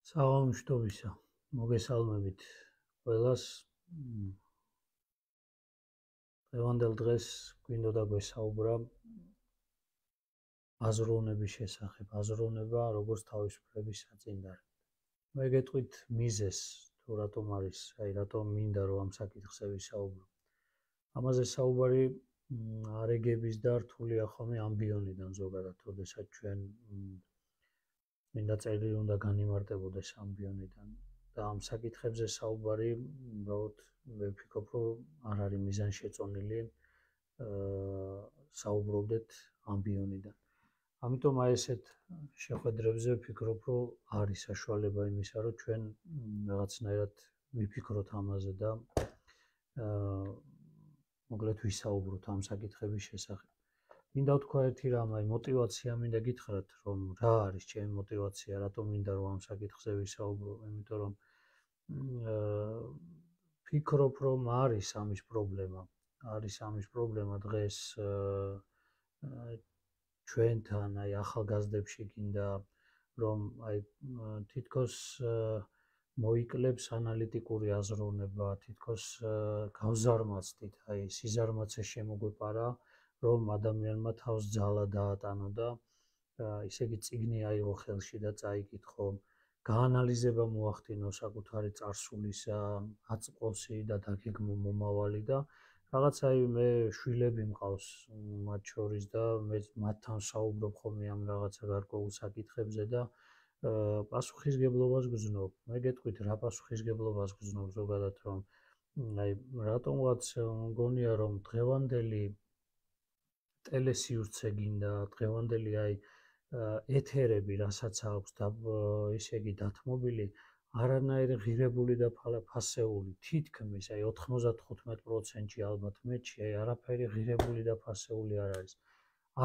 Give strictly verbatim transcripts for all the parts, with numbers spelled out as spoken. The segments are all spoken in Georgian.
საღამოშტობისა მოგესალმებით ყველას. დღევანდელ დღეს გვინდოდა გვესაუბრა აზროვნების შესახებ. აზროვნება როგორც თავისუფლების საწინდარი. მე გეტყვით მიზეს თუ რატომ არის, აი რატომ მინდა რომ ამ საკითხზე ვისაუბრო. ამაზე საუბარი არეგების და რთული ახომი ამბიონიდან ზოგადად, როდესაც ჩვენ მინდა წერილი უნდა განიმარტებოდეს ამბიონიდან და ამ საკითხებზე საუბარი, უბრალოდ მე ვფიქრობ, რომ არ არის მიზანშეწონილი საუბრობდეთ ამბიონიდან. ამიტომ აი ესეთ შეხვედრებზე ვფიქრობ, რომ არის საშუალება იმისა, რომ ჩვენ რაღაცნაირად ვიფიქროთ ამაზე და მოკლედ ვისაუბროთ ამ საკითხების შესახებ. მინდა ვთქვა ერთი რამ, აი мотиваცია მინდა გითხრათ, რომ რა არის ჩემი мотиваცია, რატომ მინდა რომ ამ საკითხზე ვისაუბრო, იმიტომ რომ ვფიქრობ, რომ არის ამის პრობლემა. არის ამის პრობლემა დღეს ჩვენთან, აი ახალგაზრდებში გინდა რომ აი თითქოს მოიკლებს ანალიტიკური აზროვნება, თითქოს გავზარმაცდით, აი სიზარმაცე შემოგვეპარა, რომ ადამიანმა თავს ძალა დაატანო და ისე იგი წიგნი აიღო ხელში და წაიკითხო, გაანალიზება მოახდინო საკუთარი წარსულისა, აწყვოსი და დაგეგმო მომავალი და რაღაცა მე შვილები მყავს მათ შორის და მე მათთან საუბრობ ხოლმე ამ რაღაცა გარკვეულ საკითხებზე და პასუხისგებლობას გრძნობ. მე გეტყვით რა პასუხისგებლობას გრძნობ ზოგადად, რომ აი რატომღაც მგონია რომ დღევანდელი ტელესივრცე გინდა, დღევანდელი აი ეთერები, რასაც აქვს და ისე იგი დათმობილი, არანაირი ღირებული და ფასეული, თითქმის აი ოთხმოცდათხუთმეტ პროცენტში ალბათ მეტში, აი არაფერი ღირებული და ფასეული არ არის.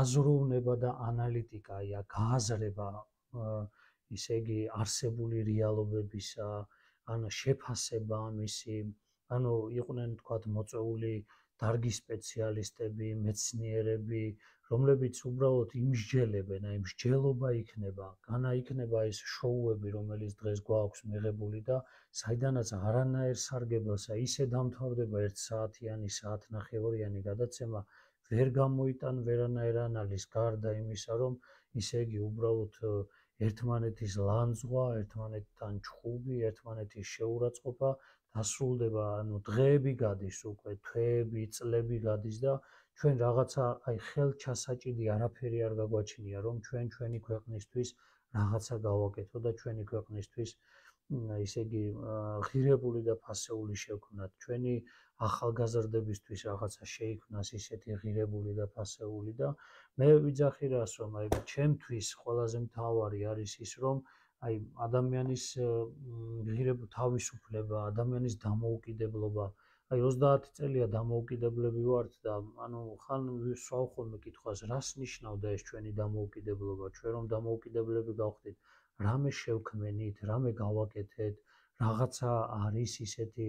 აზროვნება და ანალიტიკა, აი გააზრება ისე იგი არსებული რეალობებისა, ანუ შეფასება ამისი, ანუ იყვნენ თქვათ მოწვეული დარგის სპეციალისტები, მეცნიერები, რომლებიც უბრალოდ იმსჯელებენ, აი მსჯელობა იქნება, განა იქნება ეს შოუები, რომელიც დღეს გვაქვს მიღებული და საიდანაც არანაირ სარგებლოს, აი ისე დამთავრდება ერთ საათიანი, საათნახევარიანი გადაცემა, ვერ გამოიტან ვერანაირ ანალიზს, გარდა იმისა, რომ ისე იგი უბრალოდ ერთმანეთის ლანძღვა, ერთმანეთთან ჩხუბი, ერთმანეთის შეურაცხყოფა დასრულდება, ანუ დღეები გადის უკვე, თვეები, წლები გადის და ჩვენ რაღაცა აი ხელჩასაჭიდი არაფერი არ გაგვაჩნია, რომ ჩვენ ჩვენი ქვეყნისთვის რაღაცა გავაკეთოთ და ჩვენი ქვეყნისთვის ისე იგი ღირებული და ფასეული შევქმნათ, ჩვენი ახალგაზრდებისთვის რაღაცა შეიქმნას ისეთი ღირებული და ფასეული და მე ვიძახი რას, რომ აი ჩემთვის ყველაზე მთავარი არის ის, რომ აი ადამიანის ღირებული თავისუფლება, ადამიანის დამოუკიდებლობა, აი ოცდაათი წელია დამოუკიდებლები ვართ და ანუ ხან ვისვავ ხოლმე კითხვას, რას ნიშნავდა ეს ჩვენი დამოუკიდებლობა, ჩვენ რომ დამოუკიდებლები გავხდით, რამე შევქმენით, რამე გავაკეთეთ, რაღაცა არის ისეთი,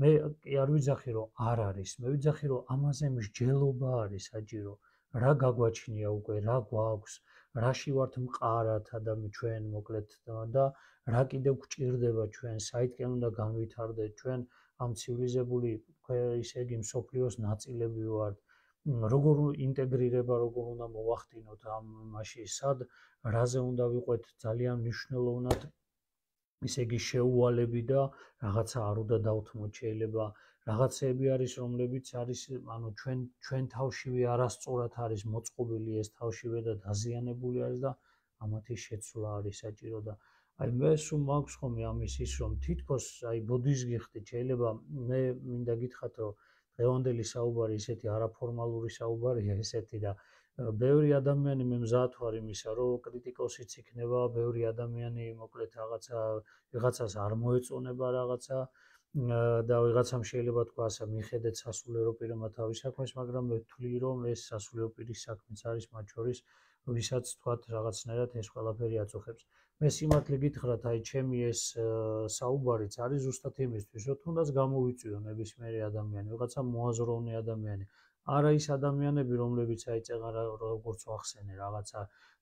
მე კი არ ვიძახი, რომ არ არის, მე ვიძახი, რომ ამაზე მსჯელობა არის საჭირო, რა გაგვაჩნია უკვე, რა გვაქვს, რაში ვართ მყარად ადამი ჩვენ მოკლედ და რა კიდევ გვჭირდება ჩვენ, საითკენ უნდა განვითარდეთ ჩვენ ამ ცივილიზებული ისე იგი მსოფლიოს ნაწილები ვართ, როგორ ინტეგრირება, როგორ უნდა მოვახდინოთ ამ მასში, სად, რაზე უნდა ვიყვეთ ძალიან მნიშვნელოვნად ისე იგი შეუვალები და რაღაცა არ უნდა დავთმოთ, შეიძლება რაღაცები არის, რომლებიც არის, ანუ ჩვენ ჩვენ თავშივე არასწორად არის მოწყობილი ეს თავშივე და დაზიანებული არის და ამათი შეცვლა არის საჭირო და აი მე სულ მაქვს ხოლმე ამის ის, რომ თითქოს აი ბოდიშს გიხდით, შეიძლება მე მინდა გითხრათ, რომ დღევანდელი საუბარი ისეთი არაფორმალური საუბარია ესეთი და ბევრი ადამიანი მე მზად ვარ იმისა, რომ კრიტიკოსიც იქნება, ბევრი ადამიანი მოკლედ რაღაცა ვიღაცას არ მოეწონება რაღაცა და ვიღაცამ შეიძლება თქვა ასე მიხედეთ სასულიერო პირმა თავის საქმეს, მაგრამ მე ვთვლი, რომ ეს სასულიერო პირის საქმეც არის მათ შორის, ვისაც თქვათ რაღაცნაირად ეს ყველაფერი აწუხებს. მე სიმართლე გითხრათ, აი ჩემი ეს საუბარიც არის ზუსტად იმისთვის, რომ თუნდაც გამოვიწვიო ნებისმიერი ადამიანი, ვიღაცა მოაზროვნე ადამიანი. არა ის ადამიანები, რომლებიც აი წეღარ როგორც ვახსენე, რაღაცა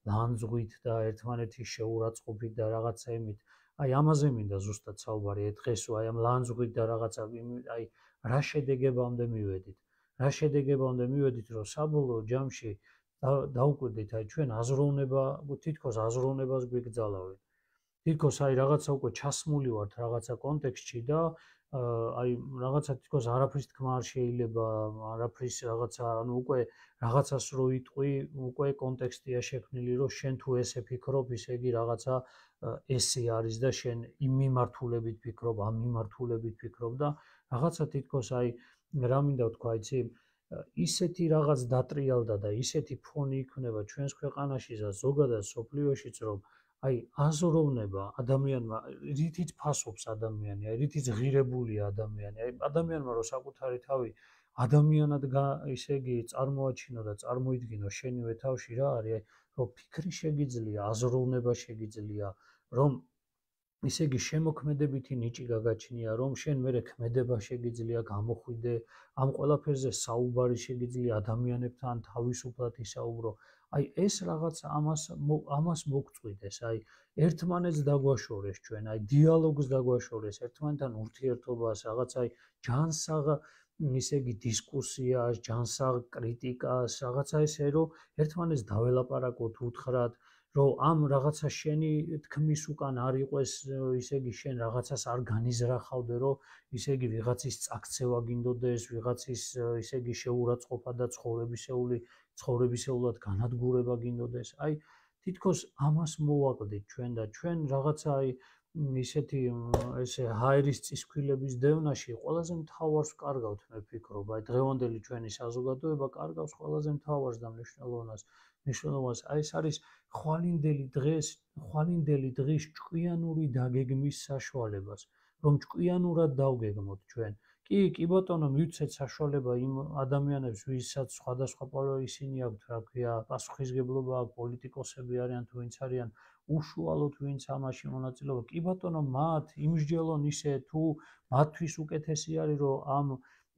ლანძღვით და ერთმანეთის შეურაცხყოფით და რაღაცა იმით, აი ამაზე მინდა ზუსტად საუბარი დღეს აი ამ ლანძღვით და რაღაცა აი რა შედეგებამდე მივედით. რა შედეგებამდე მივედით, რომ საბოლოო ჯამში დაუკვირდით აი ჩვენ აზროვნება, თითქოს აზროვნებას გვიგზალავენ. თითქოს აი რაღაცა უკვე ჩასმული ვართ რაღაცა კონტექსტში და აი რაღაცა თითქოს არაფრის თქმა არ შეიძლება, არაფრის რაღაცა, ანუ უკვე რაღაცას რო იტყვი, უკვე კონტექსტია შექმნილი, რომ შენ თუ ესე ფიქრობ, ისე იგი რაღაცა ესე არის და შენ იმ მიმართულებით ფიქრობ, ამ მიმართულებით ფიქრობ და რაღაცა თითქოს აი რა მინდა ვთქვა, იცი, ისეთი რაღაც დატრიალდა და ისეთი ფონი იქნება ჩვენს ქვეყანაში და ზოგადად სოფლიოშიც, რომ აი აზროვნება ადამიანმა, რითიც ფასობს ადამიანი, აი რითიც ღირებულია ადამიანი, აი ადამიანმა რო საკუთარი თავი ადამიანად ისე იგი წარმოაჩინო და წარმოიდგინო შენივე თავში რა არის, რომ ფიქრი შეგიძლია, აზროვნება შეგიძლია, რომ ისე იგი შემოქმედებითი ნიჭი გაგაჩნია, რომ შენ მერე ქმედება შეგიძლია გამოხვიდე, ამ ყველაფერზე საუბარი შეგიძლია ადამიანებთან თავისუფლად ისაუბრო. აი ეს რაღაც ამას ამას მოგწვიდეს, აი ერთმანეთს დაგვაშორეს ჩვენ, აი დიალოგს დაგვაშორეს, ერთმანეთთან ურთიერთობას, რაღაც აი ჯანსაღ ისე იგი დისკუსიას, ჯანსაღ კრიტიკას, რაღაცა ესე რომ ერთმანეთს დაველაპარაკოთ უთხრათ, რომ ამ რაღაცა შენი თქმის უკან არ იყოს, ისე იგი შენ რაღაცას არ განიზრახავდე, რომ ისე იგი ვიღაცის წაქცევა გინდოდეს, ვიღაცის ისე იგი შეურაცხყოფა და ცხოვრებისეული ცხოვრებისეულად განადგურება გინდოდეს. აი თითქოს ამას მოვაკლდით ჩვენ და ჩვენ რაღაცა აი ისეთი ესე ჰაერის წისქვილების დევნაში ყველაზე მთავარს ვკარგავთ, მე ვფიქრობ, აი დღევანდელი ჩვენი საზოგადოება კარგავს ყველაზე მთავარს და მნიშვნელოვნას. მნიშვნელობას აი ეს არის ხვალინდელი დღეს, ხვალინდელი დღის ჭკვიანური დაგეგმის საშუალებას, რომ ჭკვიანურად დავგეგმოთ ჩვენ. კი, კი ბატონო, მივცეთ საშუალება იმ ადამიანებს, ვისაც სხვადასხვა ისინი აქვთ, რა ქვია, პასუხისგებლობა აქვს, პოლიტიკოსები არიან თუ ვინც არიან, უშუალოდ ვინც ამაში მონაწილეობა. კი ბატონო, მათ იმსჯელონ ისე თუ მათთვის უკეთესი არის, რომ ამ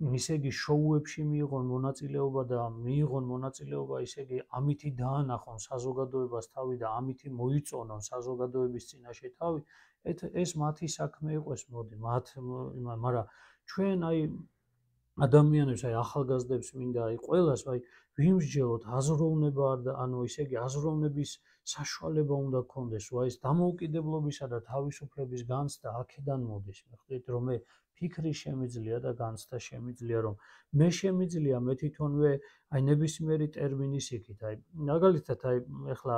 ისე იგი შოუებში მიიღონ მონაწილეობა და მიიღონ მონაწილეობა, ისე იგი ამითი დაანახონ საზოგადოებას თავი და ამითი მოიწონონ საზოგადოების წინაშე თავი, ეს მათი საქმე იყოს, მოდი, მათ, მაგრამ ჩვენ აი ადამიანებს, აი ახალგაზრდებს მინდა აი ყველას აი ვიმსჯელოთ აზროვნება და ანუ ისე იგი აზროვნების საშუალება უნდა გქონდეს, აი ეს დამოუკიდებლობისა და თავისუფლების განცდა აქედან მოდის, მეხდით რომ მე ფიქრი შემიძლია და განცდა შემიძლია, რომ მე შემიძლია მე თვითონვე აი ნებისმიერი ტერმინის იქით, აი მაგალითად აი ეხლა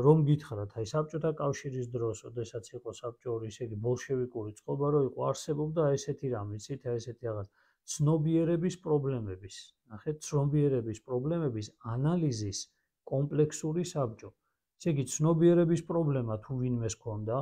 რომ გითხრათ, აი საბჭოთა კავშირის დროს, ოდესაც იყო საბჭოური ისე იგი ბოლშევიკური წყობა რო იყო, არსებობდა ესეთი რამე, იცით, აი ესეთი რაღაც ცნობიერების პრობლემების, ნახეთ, ცნობიერების პრობლემების ანალიზის კომპლექსური საბჭო. ესე იგი, ცნობიერების პრობლემა თუ ვინმეს ჰქონდა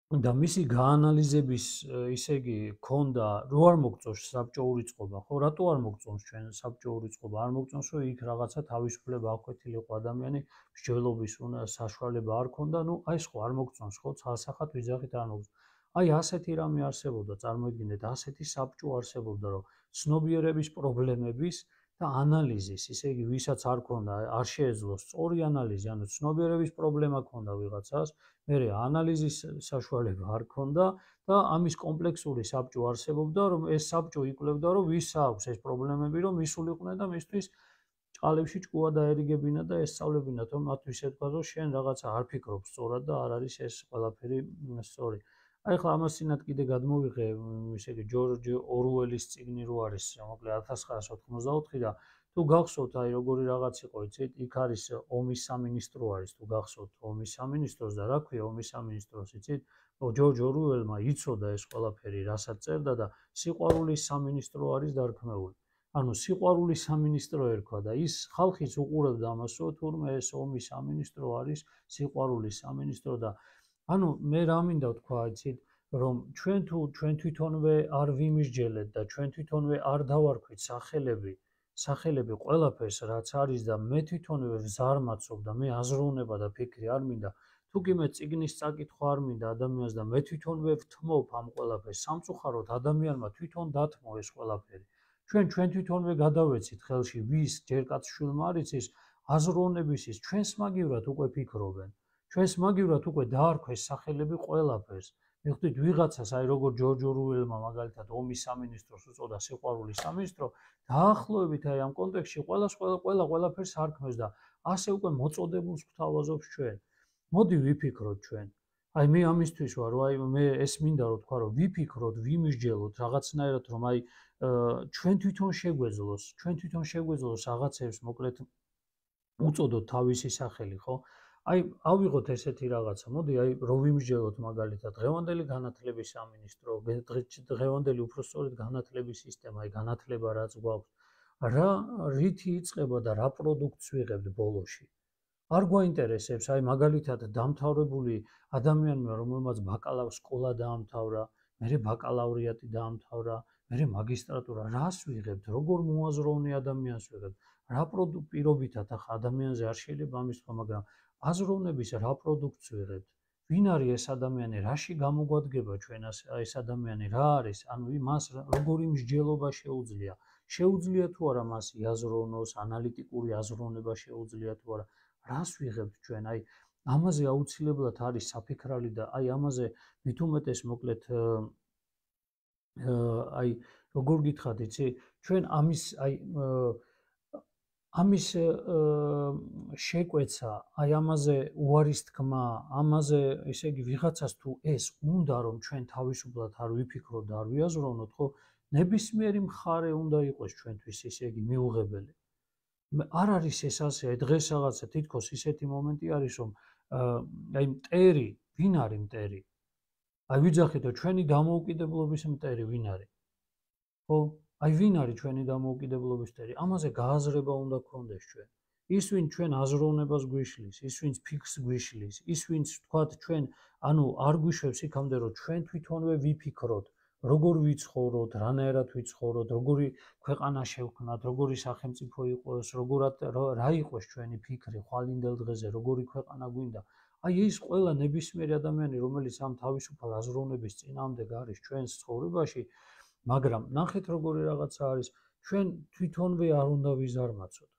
და მისი გაანალიზების ისე იგი ჰქონდა, რო არ მოგწონს საბჭოური წყობა, ხო, რატო არ მოგწონს ჩვენ საბჭოური წყობა? არ მოგწონს, რომ იქ რაღაცა თავისუფლება აქვეთილიყო ადამიანი, მსჯელობის საშუალება არ ჰქონდა, ნუ აი ეს ხო არ მოგწონს, ხო, ცალსახად ვიძახით არ მოგწონს. აი ასეთი რამე არსებობდა, წარმოიდგინეთ, ასეთი საბჭო არსებობდა, რომ ცნობიერების პრობლემების და ანალიზის, ისე იგი, ვისაც არ ქონდა, არ შეეძლო სწორი ანალიზი, ანუ ცნობიერების პრობლემა ქონდა ვიღაცას, მერე ანალიზის საშუალება არ ქონდა და ამის კომპლექსური საბჭო არსებობდა, რომ ეს საბჭო იკვლევდა, რომ ვის აქვს ეს პრობლემები, რომ მისულიყვნენ და მისთვის ჭყალებში ჭკუა დაერიგებინა და ესწავლებინათ, რომ მათთვის ეთქვა, რომ შენ რაღაცა არ ფიქრობ სწორად და არ არის ეს ყველაფერი სწორი. აი ხა ამას წინათ კიდე გადმოვიღე, ისე იგი ჯორჯ ორუელის წიგნი რო არის, მოკლედ ათას ცხრაასი ოთხმოცდაოთხი და თუ გახსოვთ, აი როგორი რაღაც იყო, იცით, იქ არის ომის სამინისტრო არის, თუ გახსოვთ ომის სამინისტროს და რა ქვია ომის სამინისტროს, იცით? ჯორჯ ორუელმა იცოდა ეს ყველაფერი, რასაც წერდა და სიყვარულის სამინისტრო არის დარქმეული. ანუ სიყვარულის სამინისტრო ერქვა და ის ხალხიც უყურებდა ამას, რომ თურმე ეს ომის სამინისტრო არის სიყვარულის სამინისტრო და ანუ მე რა მინდა ვთქვა, იცით, რომ ჩვენ თუ ჩვენ თვითონვე არ ვიმსჯელეთ და ჩვენ თვითონვე არ დავარქვით სახელები, სახელები ყველაფერს რაც არის და მე თვითონვე ვზარმაცობ და მე აზროვნება და ფიქრი არ მინდა, თუ კი მე წიგნის წაკითხვა არ მინდა ადამიანს და მე თვითონვე ვთმობ ამ ყველაფერს, სამწუხაროდ ადამიანმა თვითონ დათმო ეს ყველაფერი. ჩვენ ჩვენ თვითონვე გადავეცით ხელში ვის ჯერ კაც შვილმა არ იცის აზროვნების ის ჩვენს მაგივრად უკვე ფიქრობენ. ჩვენს მაგივრად უკვე დაარქვეს სახელები ყველაფერს. მივხვდით ვიღაცას, აი როგორ ჯორჯ ორუელმა მაგალითად ომის სამინისტროს უწოდა სიყვარულის სამინისტრო, დაახლოებით აი ამ კონტექსტში ყველას ყველა ყველა ყველაფერს არქმევს და ასე უკვე მოწოდებულს გვთავაზობს ჩვენ. მოდი ვიფიქროთ ჩვენ. აი მე ამისთვის ვარ, რომ აი მე ეს მინდა რომ თქვა რომ ვიფიქროთ, ვიმსჯელოთ რაღაცნაირად რომ აი ჩვენ თვითონ შეგვეძლოს, ჩვენ თვითონ შეგვეძლოს რაღაცებს მოკლედ უწოდოთ თავისი სახელი, ხო? აი ავიღოთ ესეთი რაღაცა, მოდი აი რომ ვიმსჯელოთ მაგალითად დღევანდელი განათლების სამინისტრო, დღევანდელი უпростоრეთ განათლების სისტემა, აი განათლება რაც გვაქვს, რა რითი იწყება და რა პროდუქტს ვიღებთ ბოლოში. არ გვაინტერესებს აი მაგალითად დამთავრებული ადამიანმა, რომელმაც ბაკალავრის სკოლა დაამთავრა, მერე ბაკალავრიატი დაამთავრა, მერე მაგისტრატურა, რას ვიღებთ, როგორ მოაზროვნე ადამიანს ვიღებთ, რა პროდუქტ პირობითად ახლა ადამიანზე არ შეიძლება ამის თქვა, მაგრამ აზროვნების რა პროდუქტს ვიღებთ, ვინ არის ეს ადამიანი, რაში გამოგვადგება ჩვენ ეს ადამიანი, რა არის, ანუ მას როგორი მსჯელობა შეუძლია, შეუძლია თუ არა მას იაზროვნოს, ანალიტიკური აზროვნება შეუძლია თუ არა, რას ვიღებთ ჩვენ, აი ამაზე აუცილებლად არის საფიქრალი და აი ამაზე მით უმეტეს მოკლედ აი როგორ გითხრათ, იცი, ჩვენ ამის აი ამის შეკვეცა, აი ამაზე უარის თქმა, ამაზე ესე იგი ვიღაცას თუ ეს უნდა რომ ჩვენ თავისუფლად არ ვიფიქროთ და არ ვიაზროვნოთ, ხო, ნებისმიერი მხარე უნდა იყოს ჩვენთვის ესე იგი მიუღებელი. არ არის ეს ასე, დღეს რაღაცა თითქოს ისეთი მომენტი არის, რომ აი მტერი, ვინ არის მტერი? აი ვიძახითო ჩვენი დამოუკიდებლობის მტერი ვინ არის? ხო? აი ვინ არის ჩვენი დამოუკიდებლობის მტერი? ამაზე გააზრება უნდა გქონდეს ჩვენ. ის ვინ ჩვენ აზროვნებას გვიშლის, ის ვინც ფიქრს გვიშლის, ის ვინც თქვათ ჩვენ ანუ არ გვიშვებს იქამდე რომ ჩვენ თვითონვე ვიფიქროთ, როგორ ვიცხოვროთ, რანაირად ვიცხოვროთ, როგორი ქვეყანა შევქმნათ, როგორი სახელმწიფო იყოს, როგორად რა იყოს ჩვენი ფიქრი ხვალინდელ დღეზე, როგორი ქვეყანა გვინდა. აი ეს ყველა ნებისმიერი ადამიანი, რომელიც ამ თავისუფალ აზროვნების წინააღმდეგ არის ჩვენს ცხოვრებაში, მაგრამ ნახეთ როგორი რაღაცა არის, ჩვენ თვითონვე არ უნდა ვიზარმაცოთ.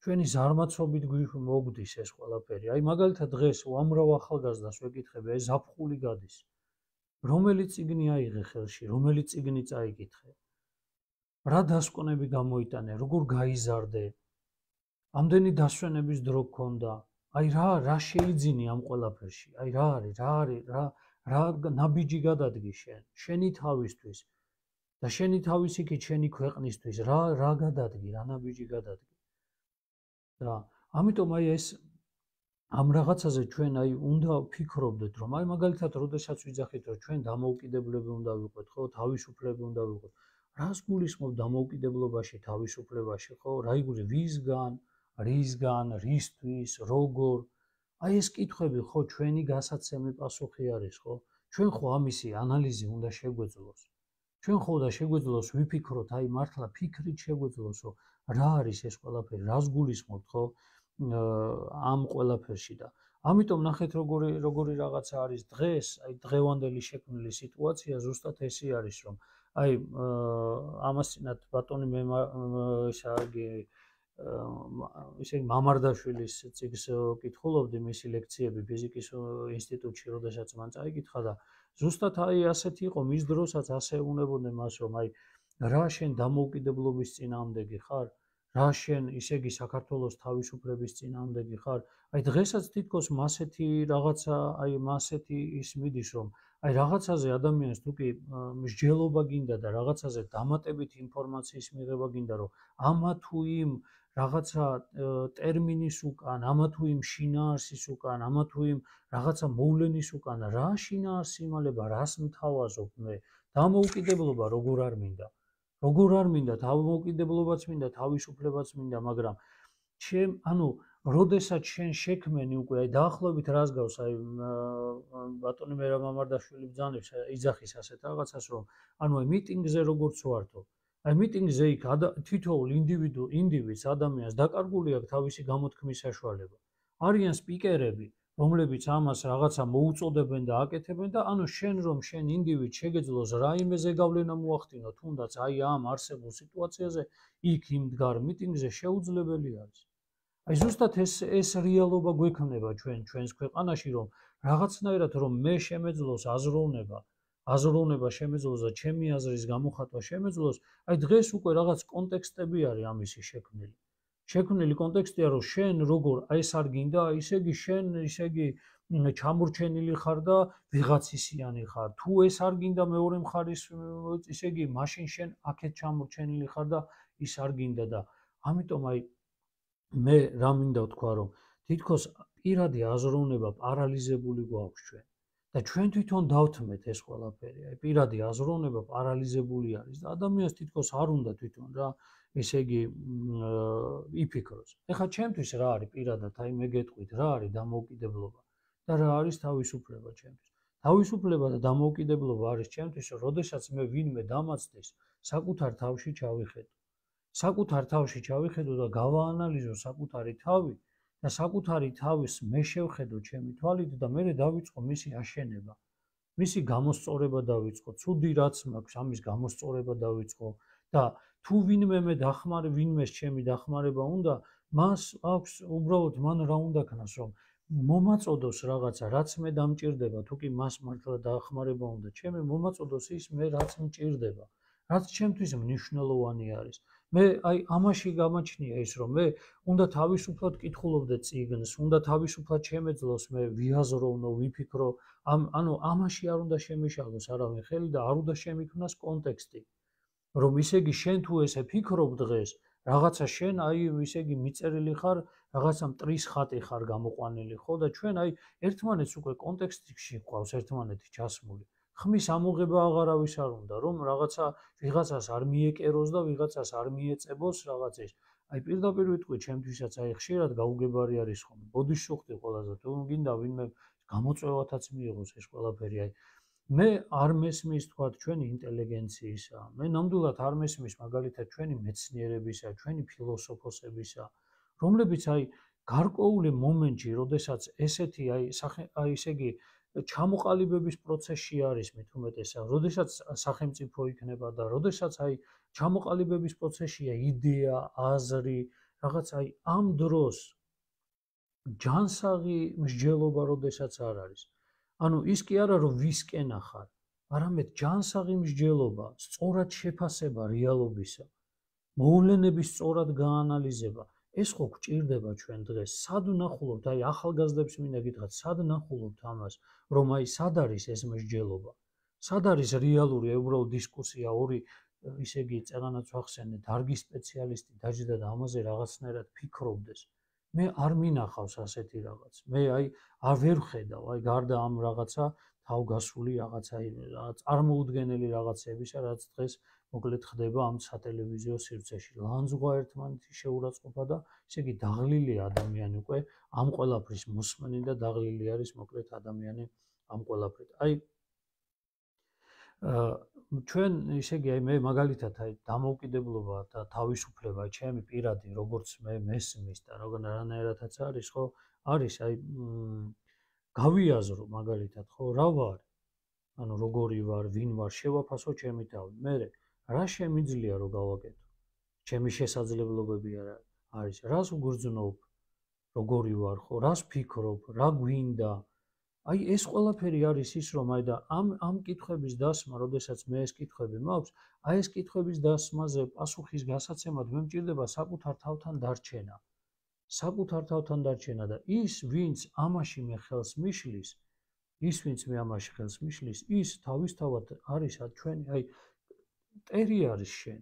ჩვენი ზარმაცობით მოგდის ეს ყველაფერი. აი მაგალითად დღეს უამრავ ახალგაზრდას ვეკითხები, აი ზაფხული გადის. რომელი წიგნი აიღე ხელში, რომელი წიგნი წაიკითხე? რა დასკვნები გამოიტანე, როგორ გაიზარდე? ამდენი დასვენების დრო გქონდა? აი რა რა შეიძინი ამ ყველაფერში? აი რა არის, რა არის, რა რა ნაბიჯი გადადგი შენ, შენი თავისთვის და შენი თავის იქით შენი ქვეყნისთვის, რა რა გადადგი, რა ნაბიჯი გადადგი? და ამიტომ აი ეს ამ რაღაცაზე ჩვენ აი უნდა ვფიქრობდეთ, რომ აი მაგალითად, როდესაც ვიძახით, რომ ჩვენ დამოუკიდებლები უნდა ვიყოთ, ხო, თავისუფლები უნდა ვიყოთ. რას გულისხმობ დამოუკიდებლობაში, თავისუფლებაში, ხო? რა იგულისხმობ ვისგან, რისგან, რისთვის, როგორ? აი ეს კითხვები, ხო, ჩვენი გასაცემი პასუხი არის, ხო? ჩვენ ხო ამისი ანალიზი უნდა შეგვეძლოს. ჩვენ ხო და შეგვეძლოს ვიფიქროთ, აი მართლა ფიქრით შეგვეძლოს, რომ რა არის ეს ყველაფერი, რას გულისხმობთ, ხო? ამ ყველაფერში და ამიტომ ნახეთ როგორი როგორი რაღაცა არის დღეს, აი დღევანდელი შექმნილი სიტუაცია ზუსტად ესე არის, რომ აი ამასწინათ ბატონი მე ისაგი ისე მამარდაშვილის წიგნს კითხულობდი, მისი ლექციები ფიზიკის ინსტიტუტში, როდესაც მან წაიკითხა და ზუსტად აი ასეთი იყო მის დროსაც ასე უნებოდნენ მას, რომ აი რა შენ დამოუკიდებლობის წინააღმდეგი ხარ? რა შენ ისე იგი საქართველოს თავისუფლების წინააღმდეგი ხარ? აი დღესაც თითქოს მასეთი რაღაცა, აი მასეთი ის მიდის, რომ აი რაღაცაზე ადამიანს თუ კი მსჯელობა გინდა და რაღაცაზე დამატებით ინფორმაციის მიღება გინდა, რომ ამა თუ იმ რაღაცა ტერმინის უკან, ამა თუ იმ შინაარსის უკან, ამა თუ იმ რაღაცა მოვლენის უკან, რა შინაარსი იმალება, რას მთავაზობ მე? დამოუკიდებლობა როგორ არ მინდა? როგორ არ მინდა, თავმოუკიდებლობაც მინდა, თავისუფლებაც მინდა, მაგრამ ჩემ, ანუ, როდესაც შენ შექმენი უკვე, აი დაახლოებით რას გავს, აი ბატონი მერაბ მამარდაშვილი ბრძანებს, იძახის ასეთ რაღაცას, რომ ანუ აი მიტინგზე როგორც ვართო, აი მიტინგზე იქ თითოეულ ინდივიდუ, ინდივიდს, ადამიანს დაკარგული აქვს თავისი გამოთქმის საშუალება. არიან სპიკერები, რომლებიც ამას რაღაცა მოუწოდებენ და აკეთებენ და ანუ შენ რომ შენ ინდივიდს შეგეძლოს რაიმე ზეგავლენა მოახდინო, თუნდაც აი ამ არსებულ სიტუაციაზე, იქ იმ მდგარ მიტინგზე შეუძლებელი არის. აი ზუსტად ეს ეს რეალობა გვექნება ჩვენ ჩვენს ქვეყანაში, რომ რაღაცნაირად რომ მე შემეძლოს აზროვნება, აზროვნება შემეძლოს და ჩემი აზრის გამოხატვა შემეძლოს, აი დღეს უკვე რაღაც კონტექსტები არის ამისი შექმნილი. შექმნილი კონტექსტია, რომ შენ როგორ აი ეს არ გინდა, ისე იგი შენ ისე იგი ჩამორჩენილი ხარ და ვიღაცისიანი ხარ. თუ ეს არ გინდა მეორე მხარის, ისე იგი მაშინ შენ აქეთ ჩამორჩენილი ხარ და ის არ გინდა და ამიტომ აი მე რა მინდა ვთქვა, რომ თითქოს პირადი აზროვნება პარალიზებული გვაქვს ჩვენ და ჩვენ თვითონ დავთმეთ ეს ყველაფერი. აი პირადი აზროვნება პარალიზებული არის და ადამიანს თითქოს არ უნდა თვითონ რა ესე იგი იფიქროს. ეხლა ჩემთვის რა არის პირადად, აი მე გეტყვით, რა არის დამოუკიდებლობა და რა არის თავისუფლება ჩემთვის. თავისუფლება და დამოუკიდებლობა არის ჩემთვის, რომ როდესაც მე ვინმე დამაცდეს, საკუთარ თავში ჩავიხედო. საკუთარ თავში ჩავიხედო და გავაანალიზო საკუთარი თავი და საკუთარი თავის მე შევხედო ჩემი თვალით და მე დავიწყო მისი აშენება. მისი გამოსწორება დავიწყო, ცუდი რაც მაქვს, ამის გამოსწორება დავიწყო და თუ ვინმე მე დახმარე, ვინმეს ჩემი დახმარება უნდა, მას აქვს უბრალოდ მან რა უნდა ქნას, რომ მომაწოდოს რაღაცა, რაც მე დამჭირდება, თუ კი მას მართლა დახმარება უნდა, ჩემი მომაწოდოს ის მე რაც მჭირდება, რაც ჩემთვის მნიშვნელოვანი არის. მე აი ამაში გამაჩნია ის, რომ მე უნდა თავისუფლად კითხულობდე წიგნს, უნდა თავისუფლად შემეძლოს მე ვიაზროვნო, ვიფიქრო, ამ ანუ ამაში არ უნდა შემიშალოს არავინ ხელი და არ უნდა შემიქმნას კონტექსტი. რომ ისე იგი შენ თუ ესე ფიქრობ დღეს, რაღაცა შენ აი ისე იგი მიწერილი ხარ, რაღაცა მტრის ხატი ხარ გამოყვანილი, ხო და ჩვენ აი ერთმანეთს უკვე კონტექსტში გვყავს ერთმანეთი ჩასმული. ხმის ამოღება აღარავის არ უნდა, რომ რაღაცა ვიღაცას არ მიეკეროს და ვიღაცას არ მიეწებოს რაღაცის. აი პირდაპირ ვიტყვი, ჩემთვისაც აი ხშირად გაუგებარი არის ხოლმე. ბოდიშუხტი ყველაზე თუ გინდა ვინმე გამოწვევათაც მიიღოს ეს ყველაფერი. აი მე არ მესმის თქვა ჩვენი ინტელიგენციისა. მე ნამდვილად არ მესმის მაგალითად ჩვენი მეცნიერებისა, ჩვენი ფილოსოფოსებისა, რომლებიც აი გარკვეული მომენტში, როდესაც ესეთი აი აი ესე იგი ჩამოყალიბების პროცესში არის მით უმეტესად, როდესაც სახელმწიფო იქნება და როდესაც აი ჩამოყალიბების პროცესშია იდეა, აზრი, რაღაც აი ამ დროს ჯანსაღი მსჯელობა როდესაც არ არის. ანუ ის კი არა რომ ვისკენ ახარ, არამედ ჯანსაღი მსჯელობა, სწორად შეფასება რეალობისა, მოვლენების სწორად გაანალიზება. ეს ხო გვჭირდება ჩვენ დღეს. სად ვნახულობთ, აი ახალგაზრდებს მინდა გითხრათ, სად ვნახულობთ ამას, რომ აი სად არის ეს მსჯელობა? სად არის რეალური უბრალოდ დისკუსია, ორი ისე იგი წეგანაც ვახსენე, დარგის სპეციალისტი დაჯდა და ამაზე რაღაცნაირად ფიქრობდეს. მე არ მინახავს ასეთი რაღაც. მე აი არ ვერ ხედავ, აი გარდა ამ რაღაცა თავგასული რაღაცა წარმოუდგენელი რაღაცებისა, რაც დღეს მოკლედ ხდება ამ სატელევიზიო სივრცეში. ლანძღვა ერთმანეთის შეურაცხყოფა და ისე იგი დაღლილი ადამიანი უკვე ამ ყველაფრის მოსმენი და დაღლილი არის მოკლედ ადამიანი ამ ყველაფრით. აი ჩვენ ისე იგი აი მე მაგალითად აი დამოუკიდებლობა და თავისუფლება ჩემი პირადი როგორც მე მესმის და როგორნაირადაც არის ხო არის აი გავიაზრო მაგალითად ხო რა ვარ ანუ როგორი ვარ ვინ ვარ შევაფასო ჩემი თავი მე რა შემიძლია რომ გავაკეთო ჩემი შესაძლებლობები არა არის რას ვგრძნობ როგორი ვარ ხო რას ვფიქრობ რა გვინდა აი ეს ყველაფერი არის ის რომ აი და ამ ამ კითხვების დასმა, როდესაც მე ეს კითხვები მაქვს, აი ეს კითხვების დასმაზე პასუხის გასაცემად მე მჭირდება საკუთარ თავთან დარჩენა. საკუთარ თავთან დარჩენა და ის, ვინც ამაში მე ხელს მიშლის, ის ვინც მე ამაში ხელს მიშლის, ის თავისთავად არის ჩვენი აი მტერი არის შენ.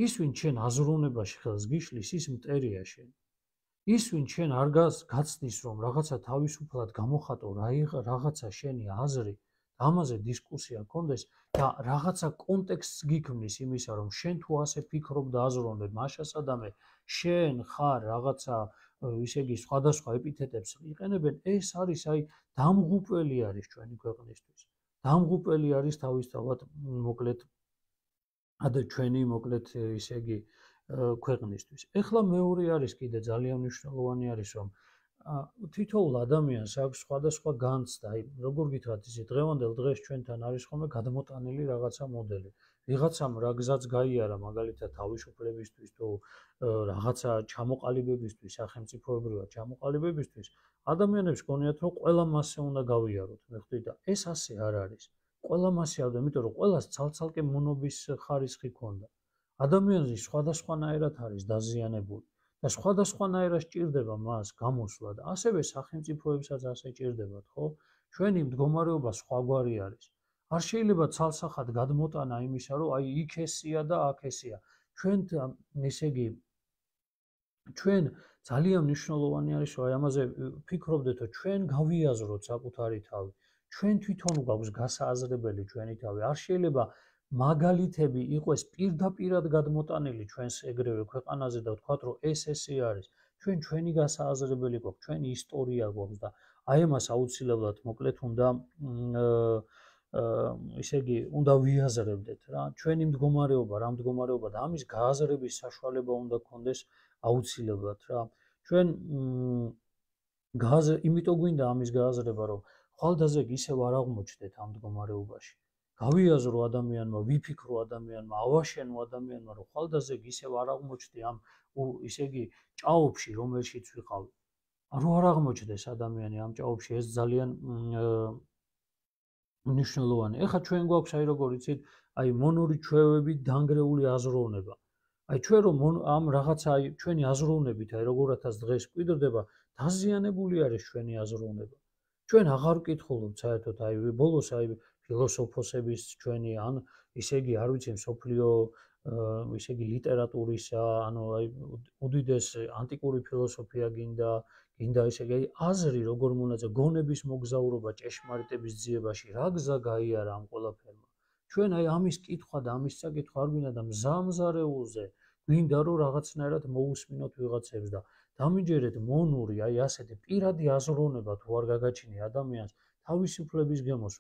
ის ვინც შენ აზროვნებაში ხელს გიშლის, ის მტერია შენ. ის ვინც შენ არ გაცდის რომ რაღაცა თავისუფლად გამოხატო რაღაცა შენი აზრი ამაზე დისკუსია გქონდეს და რაღაცა კონტექსტს გიქმნის იმისა რომ შენ თუ ასე ფიქრობ და აზროვნებ მაშასადამე შენ ხარ რაღაცა ისე იგი სხვადასხვა ეპითეტებს იყენებენ ეს არის აი დამღუპველი არის ჩვენი ქვეყნისთვის დამღუპველი არის თავისთავად მოკლედ ადა ჩვენი მოკლედ ისე იგი ქვეყნისთვის. ეხლა მეორე არის კიდე ძალიან მნიშვნელოვანი არის რომ თითოეულ ადამიანს აქვს სხვადასხვა განცდა, აი როგორ გითხრათ ისე დღევანდელ დღეს ჩვენთან არის ხოლმე გადმოტანილი რაღაცა მოდელი. ვიღაცამ რა გზაც გაიარა მაგალითად თავისუფლებისთვის თუ რაღაცა ჩამოყალიბებისთვის, სახელმწიფოებრივად ჩამოყალიბებისთვის, ადამიანებს გონიათ რომ ყველა მასე უნდა გავიაროთ, მე ხვდით და ეს ასე არ არის. ყველა მასე არ და იმიტომ რომ ყველას ცალ-ცალკე მონობის ხარისხი ქონდა. ადამიანი სხვადასხვანაირად არის დაზიანებული და სხვადასხვანაირად სჭირდება მას გამოსვლა და ასევე სახელმწიფოებსაც ასე სჭირდებათ, ხო? ჩვენი მდგომარეობა სხვაგვარი არის. არ შეიძლება ცალსახად გადმოტანა იმისა, რომ აი იქ ესია და აქ ესია. ჩვენ ესე იგი ჩვენ ძალიან მნიშვნელოვანი არის, რომ აი ამაზე ფიქრობდეთ, რომ ჩვენ გავიაზროთ საკუთარი თავი. ჩვენ თვითონ გვაქვს გასააზრებელი ჩვენი თავი. არ შეიძლება მაგალითები იყოს პირდაპირად გადმოტანილი ჩვენს ეგრევე ქვეყანაზე და ვთქვათ, რომ ეს ესე არის. ჩვენ ჩვენი გასააზრებელი გვაქვს, ჩვენი ისტორია გვაქვს და აი ამას აუცილებლად მოკლედ უნდა ისე იგი უნდა ვიაზრებდეთ რა. ჩვენი მდგომარეობა, რა მდგომარეობა და ამის გააზრების საშუალება უნდა გქონდეს აუცილებლად რა. ჩვენ გააზრ იმიტომ გვინდა ამის გააზრება, რომ ხვალდაზე ისევ არ აღმოჩნდეთ ამ მდგომარეობაში. გავიაზრო ადამიანმა, ვიფიქრო ადამიანმა, ავაშენო ადამიანმა, რომ ხვალდაზე ისევ არ აღმოჩნდი ამ ისე იგი ჭაობში, რომელშიც ვიყავი. რო არ აღმოჩნდეს ადამიანი ამ ჭაობში, ეს ძალიან მნიშვნელოვანი. ეხლა ჩვენ გვაქვს აი როგორ იცით, აი მონური ჩვევები დანგრეული აზროვნება. აი ჩვენ რომ ამ რაღაცა აი ჩვენი აზროვნებით აი როგორათაც დღეს გვიდრდება, დაზიანებული არის ჩვენი აზროვნება. ჩვენ აღარ ვკითხულობთ საერთოდ აი ბოლოს აი ფილოსოფოსების ჩვენი ან ისე იგი არ ვიცი მსოფლიო ისე იგი ლიტერატურისა, ანუ აი უდიდეს ანტიკური ფილოსოფია გინდა, გინდა ისე იგი აზრი როგორ მონაწილე გონების მოგზაურობა ჭეშმარიტების ძიებაში, რა გზა გაიარა ამ ყველაფერმა. ჩვენ აი ამის კითხვა და ამის წაკითხვა არ გვინდა და მზამზარეულზე გვინდა რომ რაღაცნაირად მოусმინოთ ვიღაცებს და დამიჯერეთ მონური აი ასეთი პირადი აზროვნება თუ არ გაგაჩინე ადამიანს თავისუფლების გემოს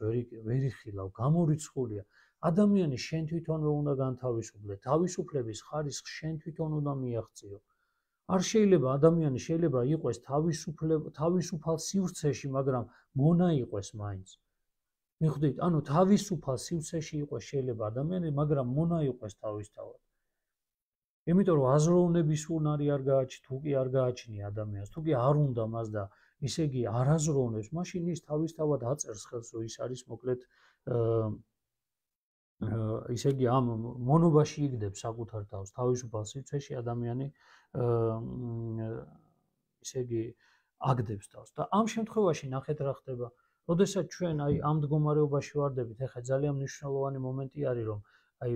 ვერ იხილავ, გამორიცხულია. ადამიანი შენ თვითონვე უნდა განთავისუფლდე, თავისუფლების ხარისხს შენ თვითონ უნდა მიაღწიო. არ შეიძლება ადამიანი შეიძლება იყოს თავისუფალ სივრცეში, მაგრამ მონა იყოს მაინც. მიხვდით, ანუ თავისუფალ სივრცეში იყოს შეიძლება ადამიანი, მაგრამ მონა იყოს თავისთავად. იმიტომ რომ აზროვნების უნარი არ გააჩნია, თუ კი არ გააჩნია ადამიანს, თუ კი არ უნდა მას და ისე იგი არ აზროვნებს, მაშინ ის თავისთავად აწერს ხელს, რომ ის არის მოკლედ ისე იგი ამ მონობაში იგდებს საკუთარ თავს, თავისუფალ სივრცეში ადამიანი ისე იგი აგდებს თავს და ამ შემთხვევაში ნახეთ რა ხდება. როდესაც ჩვენ აი ამ მდგომარეობაში ვარდებით, ეხლა ძალიან მნიშვნელოვანი მომენტი არის, რომ აი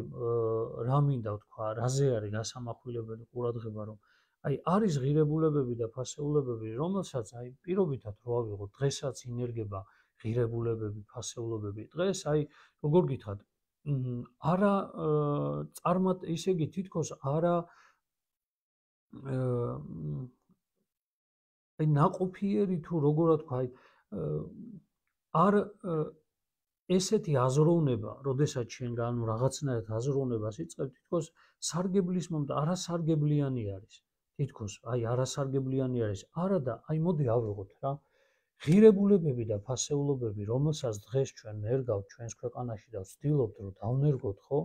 რა მინდა ვთქვა, რაზე არის გასამახვილებელი ყურადღება, რომ აი არის ღირებულებები და ფასეულებები, რომელსაც აი პირობითად რო ავიღოთ, დღესაც ინერგება ღირებულებები, ფასეულობები. დღეს აი როგორ გითხრათ, არა წარმატ ისე იგი თითქოს არა აი ნაყოფიერი თუ როგორ ვთქვა, აი არ ესეთი აზროვნება, როდესაც შენ ანუ რაღაცნაირად აზროვნებას იწყებ, თითქოს სარგებლის მომენტ არასარგებლიანი არის. თითქოს აი არასარგებლიანი არის. არა და აი მოდი ავიღოთ რა. ღირებულებები და ფასეულობები, რომელსაც დღეს ჩვენ ნერგავთ ჩვენს ქვეყანაში და ვცდილობთ რომ დავნერგოთ, ხო?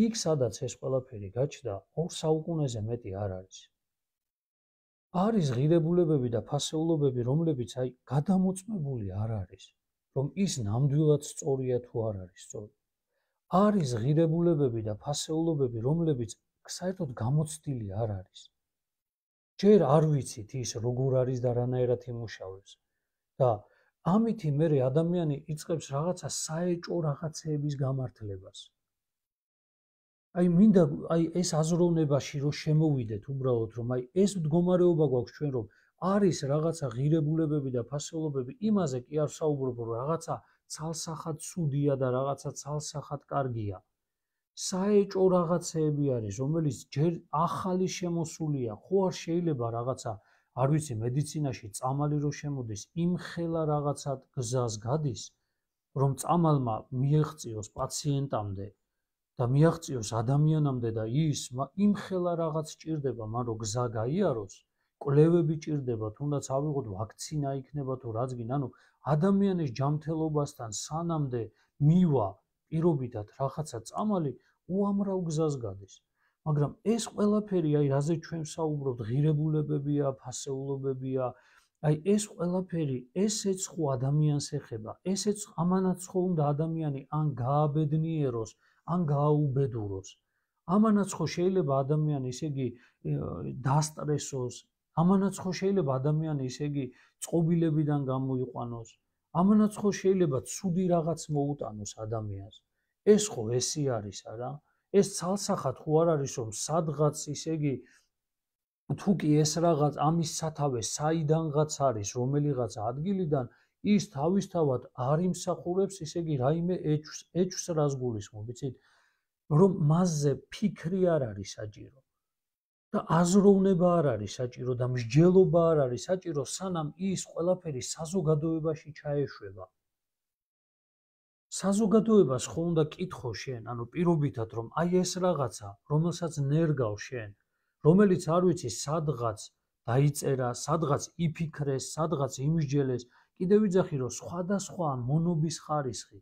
იქ სადაც ეს ყველაფერი გაჩნდა, ორ საუკუნეზე მეტი არ არის. არის ღირებულებები და ფასეულობები, რომლებიც აი გადამოწმებული არ არის. რომ ის ნამდვილად სწორია თუ არ არის სწორი. არის ღირებულებები და ფასეულობები, რომლებიც საერთოდ გამოცდილი არ არის. ჯერ არ ვიცით ის როგორ არის და რანაირად იმუშავებს. და ამითი მე ადამიანი იწყებს რაღაცა საეჭო რაღაცეების გამართლებას. აი მინდა აი ეს აზროვნებაში რომ შემოვიდეთ უბრალოდ რომ აი ეს მდგომარეობა გვაქვს ჩვენ რომ არის რაღაცა ღირებულებები და ფასეულობები, იმაზე კი არ საუბრობ, რომ რაღაცა ცალსახად ცუდია და რაღაცა ცალსახად კარგია. საეჭო რაღაცეები არის, რომელიც ჯერ ახალი შემოსულია, ხო არ შეიძლება რაღაცა, არ ვიცი, მედიცინაში წამალი რო შემოდის, იმხელა რაღაცა გზას გადის, რომ წამალმა მიეღწიოს პაციენტამდე და მიაღწიოს ადამიანამდე და ის იმხელა რაღაც სჭირდება, მან რომ გზა გაიაროს. კვლევები ჭირდება, თუნდაც ავიღოთ ვაქცინა იქნება თუ რაც გინდა, ანუ ადამიანის ჯანმრთელობასთან სანამდე მივა პირობითად რაღაცა წამალი, უამრავ გზას გადის. მაგრამ ეს ყველაფერი, აი რაზე ჩვენ ვსაუბრობთ, ღირებულებებია, ფასეულობებია, აი ეს ყველაფერი, ესეც ხო ადამიანს ეხება, ესეც ამანაც ხო უნდა ადამიანი ან გააბედნიეროს, ან გააუბედუროს. ამანაც ხო შეიძლება ადამიანი, ისე იგი, დასტრესოს, ამანაც ხო შეიძლება ადამიანი, ისე იგი, წყობილებიდან გამოიყვანოს. ამანაც ხო შეიძლება ცუდი რაღაც მოუტანოს ადამიანს. ეს ხო ესი არის არა? ეს ცალსახად ხო არ არის, რომ სადღაც, ისე იგი, თუ კი ეს რაღაც ამის სათავე საიდანღაც არის, რომელიღაც ადგილიდან, ის თავისთავად არ იმსახურებს, ისე იგი, რაიმე ეჭვს, ეჭვს რას გულისხმობ, იცით? რომ მასზე ფიქრი არ არის საჭირო. და აზროვნება არ არის საჭირო და მსჯელობა არ არის საჭირო, სანამ ის ყველაფერი საზოგადოებაში ჩაეშვება. საზოგადოებას ხო უნდა კითხო შენ, ანუ პირობითად, რომ აი ეს რაღაცა, რომელსაც ნერგავ შენ, რომელიც არ ვიცი სადღაც დაიწერა, სადღაც იფიქრეს, სადღაც იმსჯელეს, კიდევ ვიძახი, რომ სხვადასხვა მონობის ხარისხი,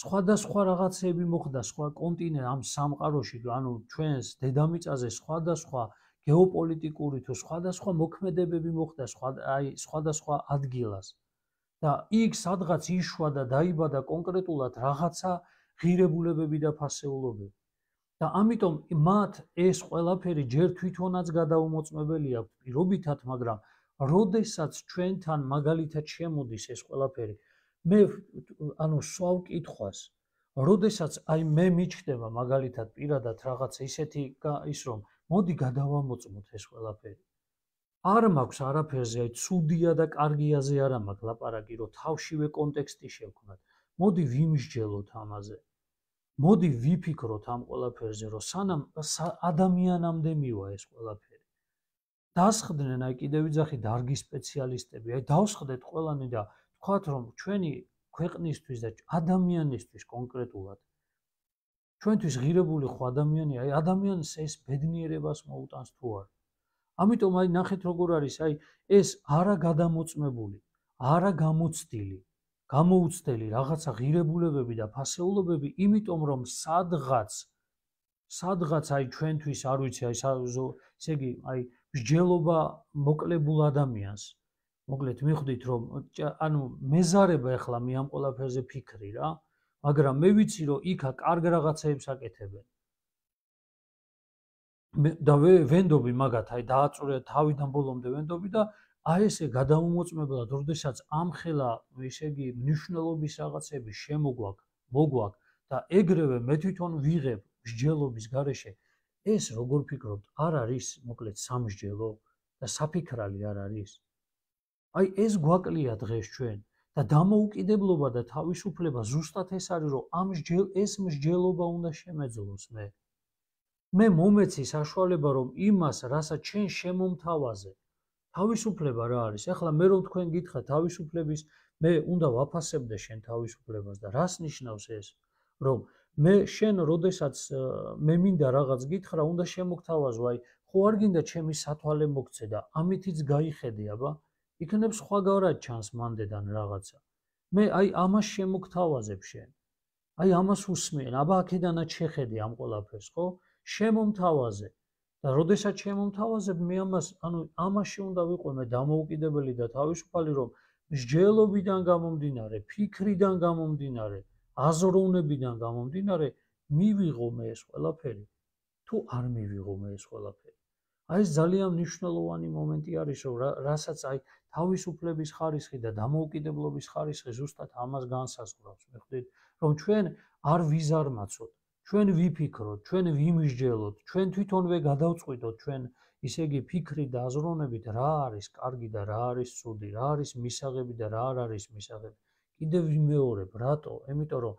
სხვადასხვა რაღაცები მოხდა სხვა კონტინენტ ამ სამყაროში, ანუ ჩვენს დედამიწაზე სხვადასხვა გეოპოლიტიკური თუ სხვადასხვა მოქმედებები მოხდა, აი სხვადასხვა ადგილას. და იქ სადღაც იშვა და დაიბადა კონკრეტულად რაღაცა ღირებულებები და ფასეულობები. და ამიტომ მათ ეს ყველაფერი ჯერ თვითონაც გადაუმოწმებელი აქვს პირობითად, მაგრამ როდესაც ჩვენთან მაგალითად შემოდის ეს ყველაფერი, მე ანუ სვავ კითხვას, როდესაც აი მე მიჩნდება მაგალითად პირადად რაღაცა ისეთი ის რომ მოდი გადავამოწმოთ ეს ყველაფერი. არ მაქვს არაფერზე, აი ცუდია და კარგიაზე არა მაქვს ლაპარაკი, რომ თავშივე კონტექსტი შევქმნათ. მოდი ვიმსჯელოთ ამაზე. მოდი ვიფიქროთ ამ ყველაფერზე, რომ სანამ ადამიანამდე მივა ეს ყველაფერი. დასხდნენ, აი კიდევ ვიძახი, დარგის სპეციალისტები, აი დავსხდეთ ყველანი და ვთქვათ, რომ ჩვენი ქვეყნისთვის და ადამიანისთვის კონკრეტულად ჩვენთვის ღირებული ხო ადამიანია, აი ადამიანს ეს ბედნიერებას მოუტანს თუ არა. ამიტომ აი ნახეთ როგორ არის, აი ეს არა გადამოწმებული, არა გამოცდილი, გამოუცდელი რაღაცა ღირებულებები და ფასეულობები, იმიტომ რომ სადღაც სადღაც აი ჩვენთვის არ ვიცი, აი ესე იგი, აი მსჯელობა მოკლებულ ადამიანს. მოკლედ მიხვდით რომ ანუ მეზარება ეხლა მე ამ ყველაფერზე ფიქრი რა, მაგრამ მე ვიცი რომ იქა კარგ რაღაცებს აკეთებენ. და ვენდობი მაგათ, აი დააწურე თავიდან ბოლომდე ვენდობი და აი ესე გადაუმოწმებლად, როდესაც ამხელა, ესე იგი, მნიშვნელობის რაღაცები შემოგვაქვს, მოგვაქვს და ეგრევე მე თვითონ ვიღებ მსჯელობის გარეშე, ეს როგორ ფიქრობთ, არ არის მოკლედ სამსჯელო და საფიქრალი არ არის? აი ეს გვაკლია დღეს ჩვენ და დამოუკიდებლობა და თავისუფლება ზუსტად ეს არის, რომ ამ ეს მსჯელობა უნდა შემეძლოს მე. მე მომეცი საშუალება, რომ იმას, რასაც ჩვენ შემომთავაზე, თავისუფლება რა არის? ახლა მე რომ თქვენ გითხრათ თავისუფლების, მე უნდა ვაფასებდე შენ თავისუფლებას და რას ნიშნავს ეს? რომ მე შენ როდესაც მე მინდა რაღაც გითხრა, უნდა შემოგთავაზო, აი ხო არ გინდა ჩემი სათვალე მოგცე და ამითიც გაიხედე, აბა? იქნებ სხვაგავრად ჩანს მანდედან რაღაცა. მე აი ამას შემოგთავაზებ შენ. აი ამას უსმენ, აბა აქედანაც შეხედე ამ ყველაფერს, ხო? შემომთავაზე. და როდესაც შემომთავაზებ, მე ამას, ანუ ამაში უნდა ვიყო მე დამოუკიდებელი და თავისუფალი, რომ მსჯელობიდან გამომდინარე, ფიქრიდან გამომდინარე, აზროვნებიდან გამომდინარე, მივიღო მე ეს ყველაფერი. თუ არ მივიღო მე ეს ყველაფერი. აი ეს ძალიან მნიშვნელოვანი მომენტი არის, რომ რასაც აი თავისუფლების ხარისხი და დამოუკიდებლობის ხარისხი ზუსტად ამას განსაზღვრავს, მიხვდით, რომ ჩვენ არ ვიზარმაცოთ, ჩვენ ვიფიქროთ, ჩვენ ვიმსჯელოთ, ჩვენ თვითონვე გადავწყვიტოთ ჩვენ, ისე იგი, ფიქრით და აზროვნებით რა არის კარგი და რა არის ცუდი, რა არის მისაღები და რა არ არის მისაღები. კიდევ ვიმეორებ, რატო? იმიტომ რომ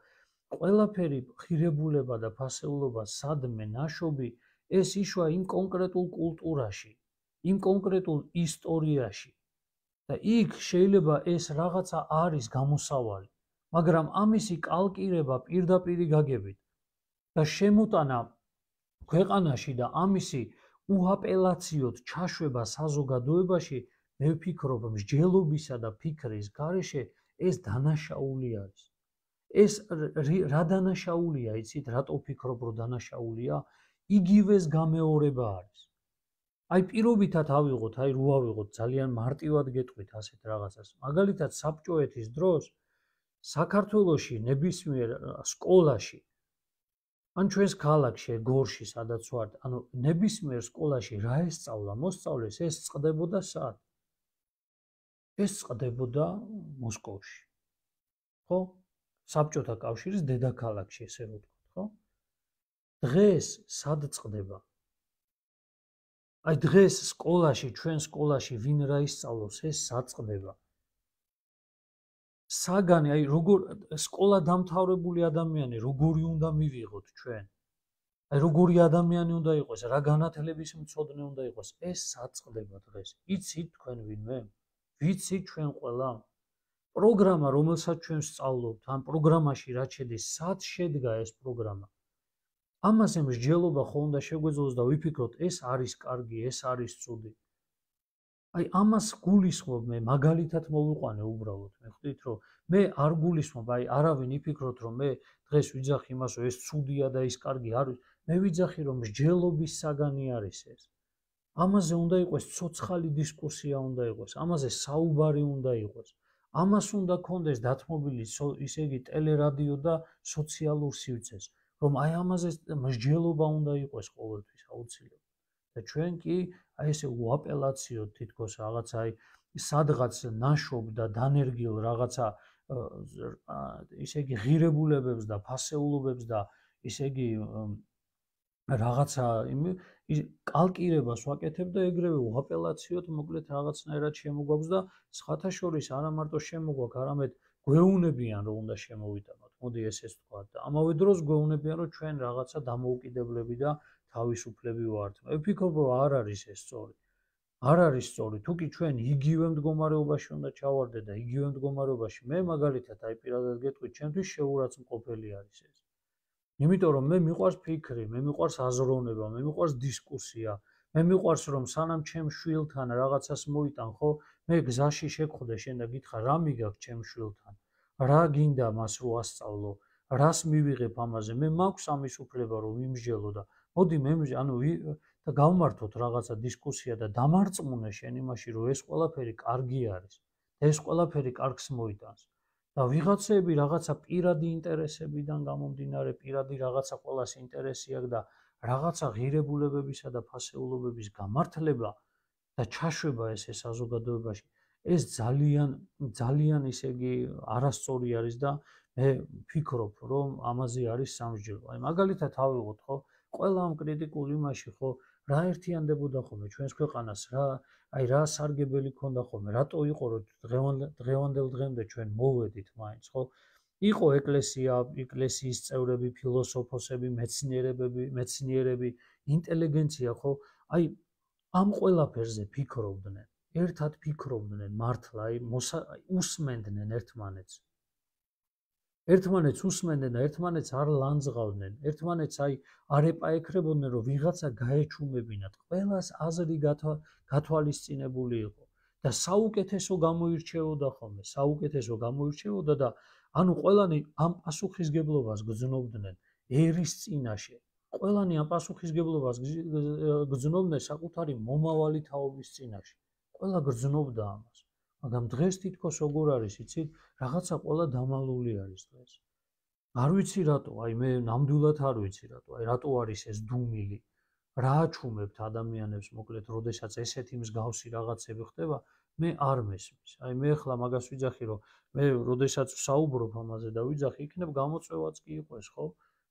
ყველაფერი ღირებულება და ფასეულობა სადმე ნაშობი, ეს იშვა იმ კონკრეტულ კულტურაში, იმ კონკრეტულ ისტორიაში. და იქ შეიძლება ეს რაღაცა არის გამოსავალი, მაგრამ ამისი კალკირება პირდაპირი გაგებით და შემოტანა ქვეყანაში და ამისი უაპელაციოდ ჩაშვება საზოგადოებაში, მე ვფიქრობ, მსჯელობისა და ფიქრის გარეშე ეს დანაშაული არის. ეს რა დანაშაულია, იცით, რატო ვფიქრობ, რომ დანაშაულია? იგივეს გამეორება არის. აი პირობითად ავიღოთ, აი რო ავიღოთ, ძალიან მარტივად გეტყვით ასეთ რაღაცას. მაგალითად, საბჭოეთის დროს საქართველოში ნებისმიერ სკოლაში ან ჩვენს ქალაქში, გორში, სადაც ვართ, ანუ ნებისმიერ სკოლაში რა ესწავლა, მოსწავლეს, ეს წყდებოდა სად? ეს წყდებოდა მოსკოვში. ხო? საბჭოთა კავშირის დედაქალაქში, ესე რომ ვთქვათ, ხო? დღეს სად წყდება? აი დღეს სკოლაში, ჩვენ სკოლაში ვინ რა ისწავლობს, ეს სად წყდება? საგანი, აი როგორ სკოლა დამთავრებული ადამიანი, როგორი უნდა მივიღოთ ჩვენ? აი როგორი ადამიანი უნდა იყოს, რა განათლების მცოდნე უნდა იყოს, ეს სად წყდება დღეს? იცით თქვენ ვინმე? ვიცით ჩვენ ყველა? პროგრამა, რომელსაც ჩვენ ვსწავლობთ, ამ პროგრამაში რა შედის, სად შედგა ეს პროგრამა? ამაზე მსჯელობა ხო უნდა შეგვეძლოს და ვიფიქროთ, ეს არის კარგი, ეს არის ცუდი. აი ამას გულისხმობ მე, მაგალითად მოვიყვანე უბრალოდ. მე ხვდით, რომ მე არ გულისხმობ, აი არავინ იფიქროთ, რომ მე დღეს ვიძახი იმას, რომ ეს ცუდია და ის კარგი არ არის. მე ვიძახი, რომ მსჯელობის საგანი არის ეს. ამაზე უნდა იყოს ცოცხალი დისკუსია უნდა იყოს, ამაზე საუბარი უნდა იყოს. ამას უნდა კონდეს დათმობილი ისე იგი ტელერადიო და სოციალურ სივრცეს, რომ აი ამაზე მსჯელობა უნდა იყოს ყოველთვის აუცილებლად. და ჩვენ კი აი ესე უაპელაციოდ თითქოს რაღაცა აი სადღაც ნაშობ და დანერგილ რაღაცა ისე იგი ღირებულებებს და ფასეულობებს და ისე იგი რაღაცა კალკირებას ვაკეთებ და ეგრევე უაპელაციოდ მოკლედ რაღაცნაირად შემოგვაქვს და სხვათა შორის არა მარტო შემოგვაქვს, არამედ გვეუნებიან რომ უნდა შემოვიტანოთ. მოდი ესეც ვთქვა და ამავე დროს გვეუნებიან რომ ჩვენ რაღაცა დამოუკიდებლები და თავისუფლები ვართ. მე ვფიქრობ რომ არ არის ეს სწორი. არ არის სწორი. თუ კი ჩვენ იგივე მდგომარეობაში უნდა ჩავარდეთ და იგივე მდგომარეობაში მე მაგალითად აი პირადად გეტყვით, ჩემთვის შეურაცხმყოფელი არის ეს. იმიტომ რომ მე მიყვარს ფიქრი, მე მიყვარს აზროვნება, მე მიყვარს დისკუსია, მე მიყვარს რომ სანამ ჩემ შვილთან რაღაცას მოიტან, ხო, მე გზაში შეგხვდე შენ და გითხრა რა მიგაქვს ჩემ შვილთან, რა გინდა მას რო ასწავლო, რას მივიღებ ამაზე, მე მაქვს ამის უფლება რომ ვიმსჯელო და მოდი მე ანუ და გავმართოთ რაღაცა დისკუსია და დამარწმუნე შენ იმაში რომ ეს ყველაფერი კარგი არის და ეს ყველაფერი კარგს მოიტანს. და ვიღაცები რაღაცა პირადი ინტერესებიდან გამომდინარე, პირადი რაღაცა ყოველას ინტერესი აქვს და რაღაცა ღირებულებებისა და ფასეულობების გამართლება და ჩაშვება ესე საზოგადოებაში, ეს ძალიან ძალიან ისე იგი არასწორი არის და მე ვფიქრობ, რომ ამაზე არის სამსჯელო. აი მაგალითად ავიღოთ, ხო, ყველა ამ კრიტიკულ იმაში, ხო, რა ერთიანდებოდა ხოლმე ჩვენს ქვეყანას, რა აი რა სარგებელი ქონდა ხოლმე, რატო იყო რომ დღევანდელ დღემდე ჩვენ მოვედით მაინც, ხო? იყო ეკლესია, ეკლესიის წევრები, ფილოსოფოსები, მეცნიერები, მეცნიერები, ინტელიგენცია, ხო? აი ამ ყველაფერზე ფიქრობდნენ, ერთად ფიქრობდნენ მართლა, აი უსმენდნენ ერთმანეთს. ერთმანეთს უსმენდნენ და ერთმანეთს არ ლანძღავდნენ, ერთმანეთს აი არ ეპაექრებოდნენ, რომ ვიღაცა გაეჩუმებინათ. ყველას აზრი გათვალისწინებული იყო და საუკეთესო გამოირჩეოდა ხოლმე, საუკეთესო გამოირჩეოდა და ანუ ყველანი ამ პასუხისგებლობას გრძნობდნენ ერის წინაშე. ყველანი ამ პასუხისგებლობას გრძნობდნენ საკუთარი მომავალი თაობის წინაშე. ყველა გრძნობდა ამას. მაგრამ დღეს თითქოს როგორ არის, იცით, რაღაცა ყველა დამალული არის დღეს. არ ვიცი რატო, აი მე ნამდვილად არ ვიცი რატო, აი რატო არის ეს დუმილი. რა აჩუმებთ ადამიანებს, მოკლედ, როდესაც ესეთი მსგავსი რაღაცები ხდება, მე არ მესმის. აი მე ახლა მაგას ვიძახი, რომ მე როდესაც ვსაუბრობ ამაზე და ვიძახი, იქნებ გამოწვევაც კი იყოს, ხო?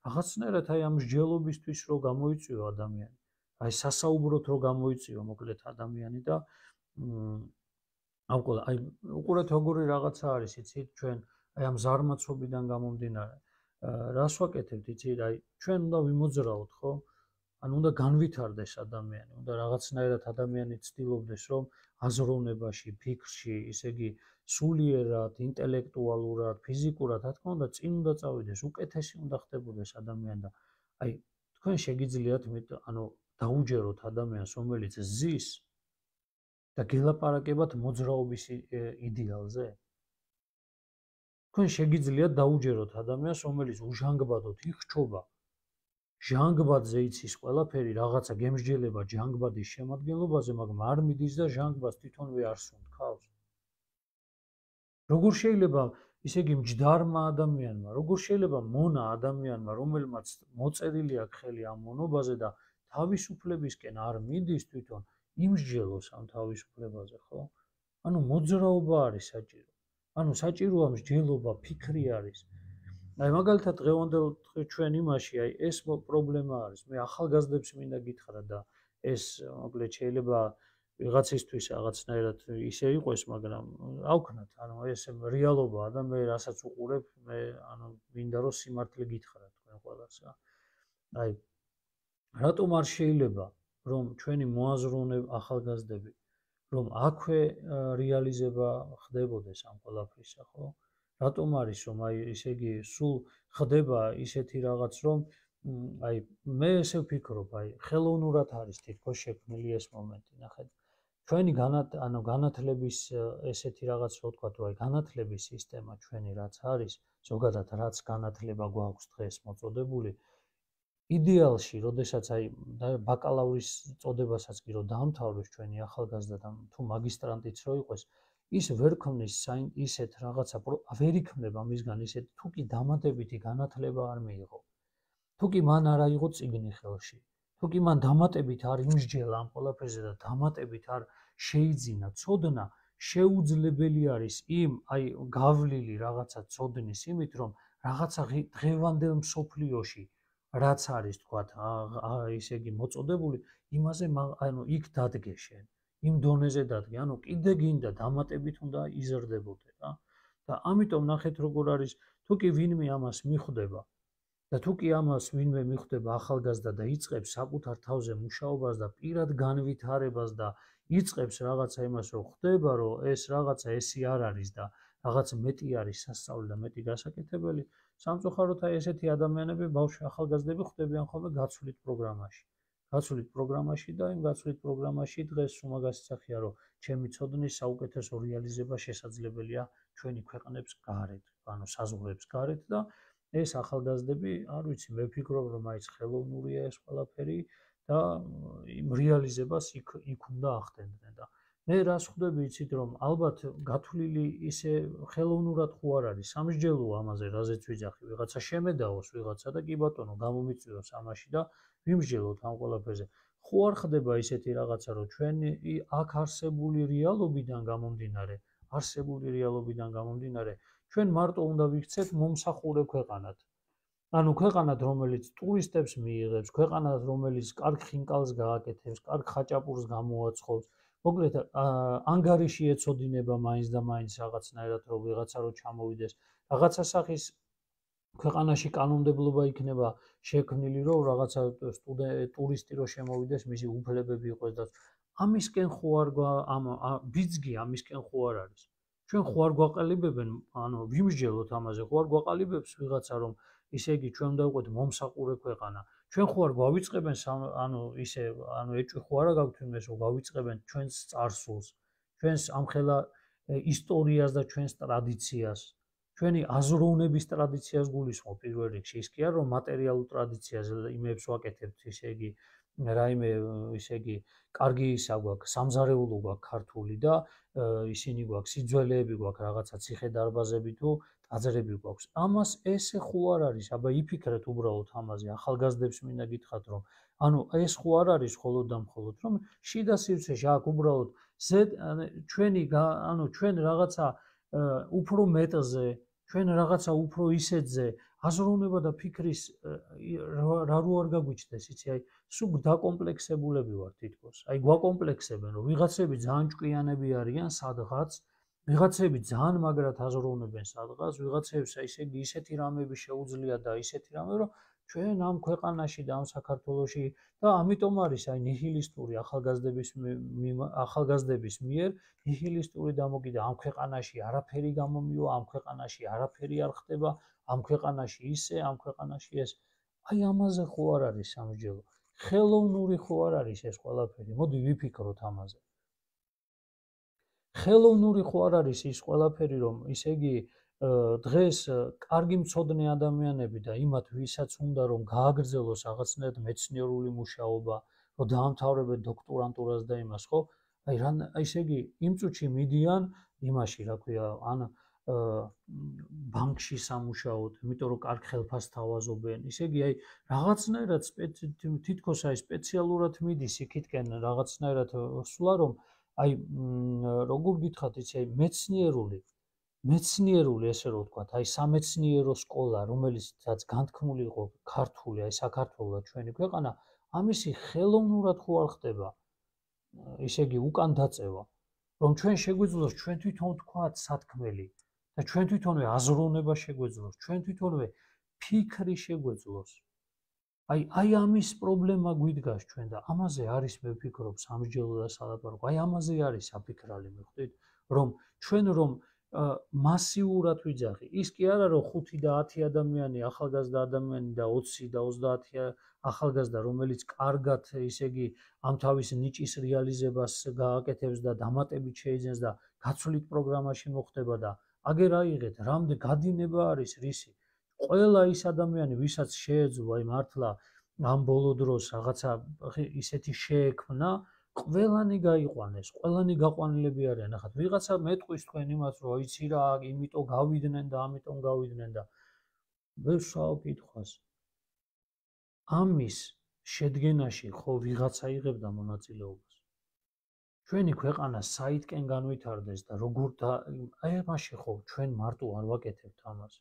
რაღაცნაირად აი ამ მსჯელობისთვის რო გამოიწვიო ადამიანი. აი სასაუბროთ რო გამოიწვიო მოკლედ ადამიანი და აუყო აი უყურეთ როგორი რაღაცა არის, იცით, ჩვენ აი ამ ზარმაცობიდან გამომდინარე. რას ვაკეთებთ, იცით, აი ჩვენ უნდა ვიმოძრაოთ, ხო? ანუ უნდა განვითარდეს ადამიანი, უნდა რაღაცნაირად ადამიანი ცდილობდეს, რომ აზროვნებაში, ფიქრში, ისე იგი სულიერად, ინტელექტუალურად, ფიზიკურად, რა თქმა უნდა, წინ უნდა წავიდეს, უკეთესი უნდა ხდებოდეს ადამიანი და აი თქვენ შეგიძლიათ, ანუ დაუჯეროთ ადამიანს, რომელიც ზის და გელაპარაკებათ მოძრაობის იდეალზე? თქვენ შეგიძლიათ დაუჯეროთ ადამიანს, რომელიც უჟანგბადოთ იხჩობა. ჟანგბადზე იცის ყველაფერი, რაღაცა გემსჯელება ჟანგბადის შემადგენლობაზე, მაგრამ არ მიდის და ჟანგბადს თვითონვე არ სუნთქავს. როგორ შეიძლება, ისე იგი მჯდარმა ადამიანმა, როგორ შეიძლება მონა ადამიანმა, რომელმაც მოწერილი აქვს ხელი ამ მონობაზე და თავისუფლებისკენ არ მიდის თვითონ, იმსჯელოს ამ თავისუფლებაზე, ხო? ანუ მოძრაობა არის საჭირო. ანუ საჭიროა მსჯელობა, ფიქრი არის. აი მაგალითად დღევანდელ ჩვენ იმაში, აი ეს პრობლემა არის. მე ახალგაზრდებს მინდა გითხრა და ეს მოკლედ შეიძლება ვიღაცისთვის რაღაცნაირად ისე იყოს, მაგრამ ავქნათ, ანუ ეს რეალობაა და მე რასაც უყურებ, მე ანუ მინდა რომ სიმართლე გითხრათ თქვენ ყველას რა. აი რატომ არ შეიძლება რომ ჩვენი მოაზროვნე ახალგაზრდები რომ აქვე რეალიზება ხდებოდეს ამ ყველაფრისა, ხო? რატომ არის რომ აი ესე იგი სულ ხდება ისეთი რაღაც რომ აი მე ესე ვფიქრობ, აი ხელოვნურად არის თითქოს შექმნილი ეს მომენტი, ნახეთ. ჩვენი ანუ განათლების ესეთი რაღაც რო ვთქვა, თუ აი განათლების სისტემა ჩვენი რაც არის, ზოგადად რაც განათლება გვაქვს დღეს მოწოდებული, იდეალში, როდესაც აი ბაკალავრის წოდებასაც კი რო დაამთავროს ჩვენი ახალგაზრდა და თუ მაგისტრანტიც რო იყოს, ის ვერ ქმნის ისეთ რაღაცა, ვერ იქმნება მისგან ისეთ თუ კი დამატებითი განათლება არ მიიღო. თუ კი მან არ აიღო წიგნი ხელში, თუ კი მან დამატებით არ იმსჯელა ამ ყველაფერზე და დამატებით არ შეიძინა ცოდნა, შეუძლებელი არის იმ აი გავლილი რაღაცა ცოდნის იმით, რომ რაღაცა დღევანდელ მსოფლიოში რაც არის თქვათ, ისე იგი მოწოდებული, იმაზე ანუ იქ დადგე შენ, იმ დონეზე დადგე, ანუ კიდე გინდა დამატებით უნდა იზრდებოდე რა. და ამიტომ ნახეთ როგორ არის, თუ კი ვინმე ამას მიხვდება და თუ კი ამას ვინმე მიხვდება ახალგაზრდა და იწყებს საკუთარ თავზე მუშაობას და პირად განვითარებას და იწყებს რაღაცა იმას, რომ ხდება, რომ ეს რაღაცა ესი არ არის და რაღაც მეტი არის სასწავლი და მეტი გასაკეთებელი, სამწუხაროდ აი ესეთი ადამიანები ბავშვი ახალგაზრდები ხდებიან ხოლმე გაცვლით პროგრამაში. გაცვლით პროგრამაში და იმ გაცვლით პროგრამაში დღეს უმაგას იცახია, რომ ჩემი ცოდნის საუკეთესო რეალიზება შესაძლებელია ჩვენი ქვეყნებს გარეთ, ანუ საზღვრებს გარეთ და ეს ახალგაზრდები, არ ვიცი, მე ვფიქრობ, რომ აიც ხელოვნურია ეს ყველაფერი და იმ რეალიზებას იქ იქ უნდა ახდენდნენ და მე რას ხვდები, იცით, რომ ალბათ გათვლილი ისე ხელოვნურად ხო არ არის, სამსჯელოა ამაზე, რაზეც ვიძახი, ვიღაცა შემედაოს ვიღაცა და კი ბატონო, გამომიწვიოს ამაში და ვიმსჯელოთ ამ ყველაფერზე. ხო არ ხდება ისეთი რაღაცა, რომ ჩვენი აქ არსებული რეალობიდან გამომდინარე, არსებული რეალობიდან გამომდინარე, ჩვენ მარტო უნდა ვიქცეთ მომსახურე ქვეყანად. ანუ ქვეყანად, რომელიც ტურისტებს მიიღებს, ქვეყანად, რომელიც კარგ ხინკალს გააკეთებს, კარგ ხაჭაპურს გამოაცხობს, მოკლედ ანგარიში ეცოდინება მაინც და მაინც რაღაცნაირად რომ ვიღაცა რო ჩამოვიდეს, რაღაცა სახის ქვეყანაში კანონმდებლობა იქნება შექმნილი, რომ რაღაცა ტურისტი რო შემოვიდეს, მისი უფლებები იყოს და ამისკენ ხო არ ამ ბიძგი ამისკენ ხო არ არის. ჩვენ ხო არ გვაყალიბებენ, ანუ ვიმსჯელოთ ამაზე, ხო არ გვაყალიბებს ვიღაცა რომ ისე იგი ჩვენ უნდა ვიყოთ მომსახურე ქვეყანა. ჩვენ ხო არ გვავიწყებენ ანუ ისე ანუ ეჭვი ხო არა გაგვთ იმეს რომ გავიწყებენ ჩვენს წარსულს, ჩვენს ამხელა ისტორიას და ჩვენს ტრადიციას, ჩვენი აზროვნების ტრადიციას გულისხმობ პირველ რიგში, ის კი არა რომ მატერიალურ ტრადიციაზე იმებს ვაკეთებთ, ისე იგი რაიმე ისე იგი კარგი ისა გვაქვს, სამზარეულო გვაქვს ქართული და ისინი გვაქვს, სიძველეები გვაქვს, რაღაცა ციხე-დარბაზები თუ ტაძრები გვაქვს. ამას ესე ხო არ არის, აბა იფიქრეთ უბრალოდ ამაზე, ახალგაზრდებს მინდა გითხრათ, რომ ანუ ეს ხო არ არის მხოლოდ და მხოლოდ, რომ შიდა სივრცეში აქ უბრალოდ ჩვენი ანუ ჩვენ რაღაცა უფრო მეტზე, ჩვენ რაღაცა უფრო ისეთზე აზროვნება და ფიქრის რა რო არ გაგვიჩნდეს, იცი, აი სულ დაკომპლექსებულები ვარ თითქოს. აი გვაკომპლექსებენ, რომ ვიღაცები ძალიან ჭკვიანები არიან სადღაც, ვიღაცები ძალიან მაგრად აზროვნებენ სადღაც, ვიღაცებს ისე იგი ისეთი რამები შეუძლია და ისეთი რამე, რომ ჩვენ ამ ქვეყანაში და ამ საქართველოში და ამიტომ არის აი ნიჰილისტური ახალგაზრდების ახალგაზრდების მიერ ნიჰილისტური დამოკიდება ამ ქვეყანაში არაფერი გამომივა, ამ ქვეყანაში არაფერი არ ხდება, ამ ქვეყანაში ისე, ამ ქვეყანაში ეს. აი ამაზე ხო არ არის სამსჯელო. ხელოვნური ხო არ არის ეს ყველაფერი. მოდი ვიფიქროთ ამაზე. ხელოვნური ხო არ არის ის ყველაფერი, რომ ისე იგი დღეს კარგი მცოდნე ადამიანები და იმათ ვისაც უნდა რომ გააგრძელოს რაღაცნაირად მეცნიერული მუშაობა, რომ დაამთავრებენ დოქტორანტურას და იმას, ხო? აი რა ისე იგი იმ წუთში მიდიან იმაში, რა ქვია, ან ბანკში სამუშაოდ, იმიტომ რომ კარგ ხელფასს თავაზობენ. ისე იგი აი რაღაცნაირად თითქოს აი სპეციალურად მიდის იქითკენ რაღაცნაირად სულა რომ აი როგორ გითხრათ იცი აი მეცნიერული მეცნიერული ესე რომ ვთქვათ, აი სამეცნიერო სკოლა, რომელიც განთქმული იყო ქართული, აი საქართველოს ჩვენი ქვეყანა, ამისი ხელოვნურად ხო არ ხდება. ისე იგი უკან დაწევა, რომ ჩვენ შეგვიძლოს ჩვენ თვითონ ვთქვათ სათქმელი და ჩვენ თვითონვე აზროვნება შეგვეძლოს, ჩვენ თვითონვე ფიქრი შეგვეძლოს. აი აი ამის პრობლემა გვიდგას ჩვენ და ამაზე არის მე ვფიქრობ სამსჯელო და სალაპარაკო. აი ამაზე არის საფიქრალი, მე ხვდით, რომ ჩვენ რომ მასიურად ვიძახი. ის კი არა რომ ხუთი და ათი ადამიანი, ახალგაზრდა ადამიანი და ოცი და ოცდაათი ახალგაზრდა, რომელიც კარგად, ისე იგი, ამ თავის ნიჭის რეალიზებას გააკეთებს და დამატებით შეიძენს და გაცვლით პროგრამაში მოხდება და აგერ აიღეთ, რამდენ გადინება არის რისი. ყველა ის ადამიანი, ვისაც შეეძლო აი მართლა ამ ბოლო დროს რაღაცა ისეთი შეექმნა, ყველანი გაიყვანეს, ყველანი გაყვანილები არიან. ახლა ვიღაცა მეტყვის თქვენ იმას, რომ იცი რა, იმიტომ გავიდნენ და ამიტომ გავიდნენ და ვერ შევავ კითხვას. ამის შედგენაში ხო ვიღაცა იღებდა მონაწილეობას. ჩვენი ქვეყანა საითკენ განვითარდეს და როგორ და აი ამაში ხო ჩვენ მარტო არ ვაკეთებთ ამას.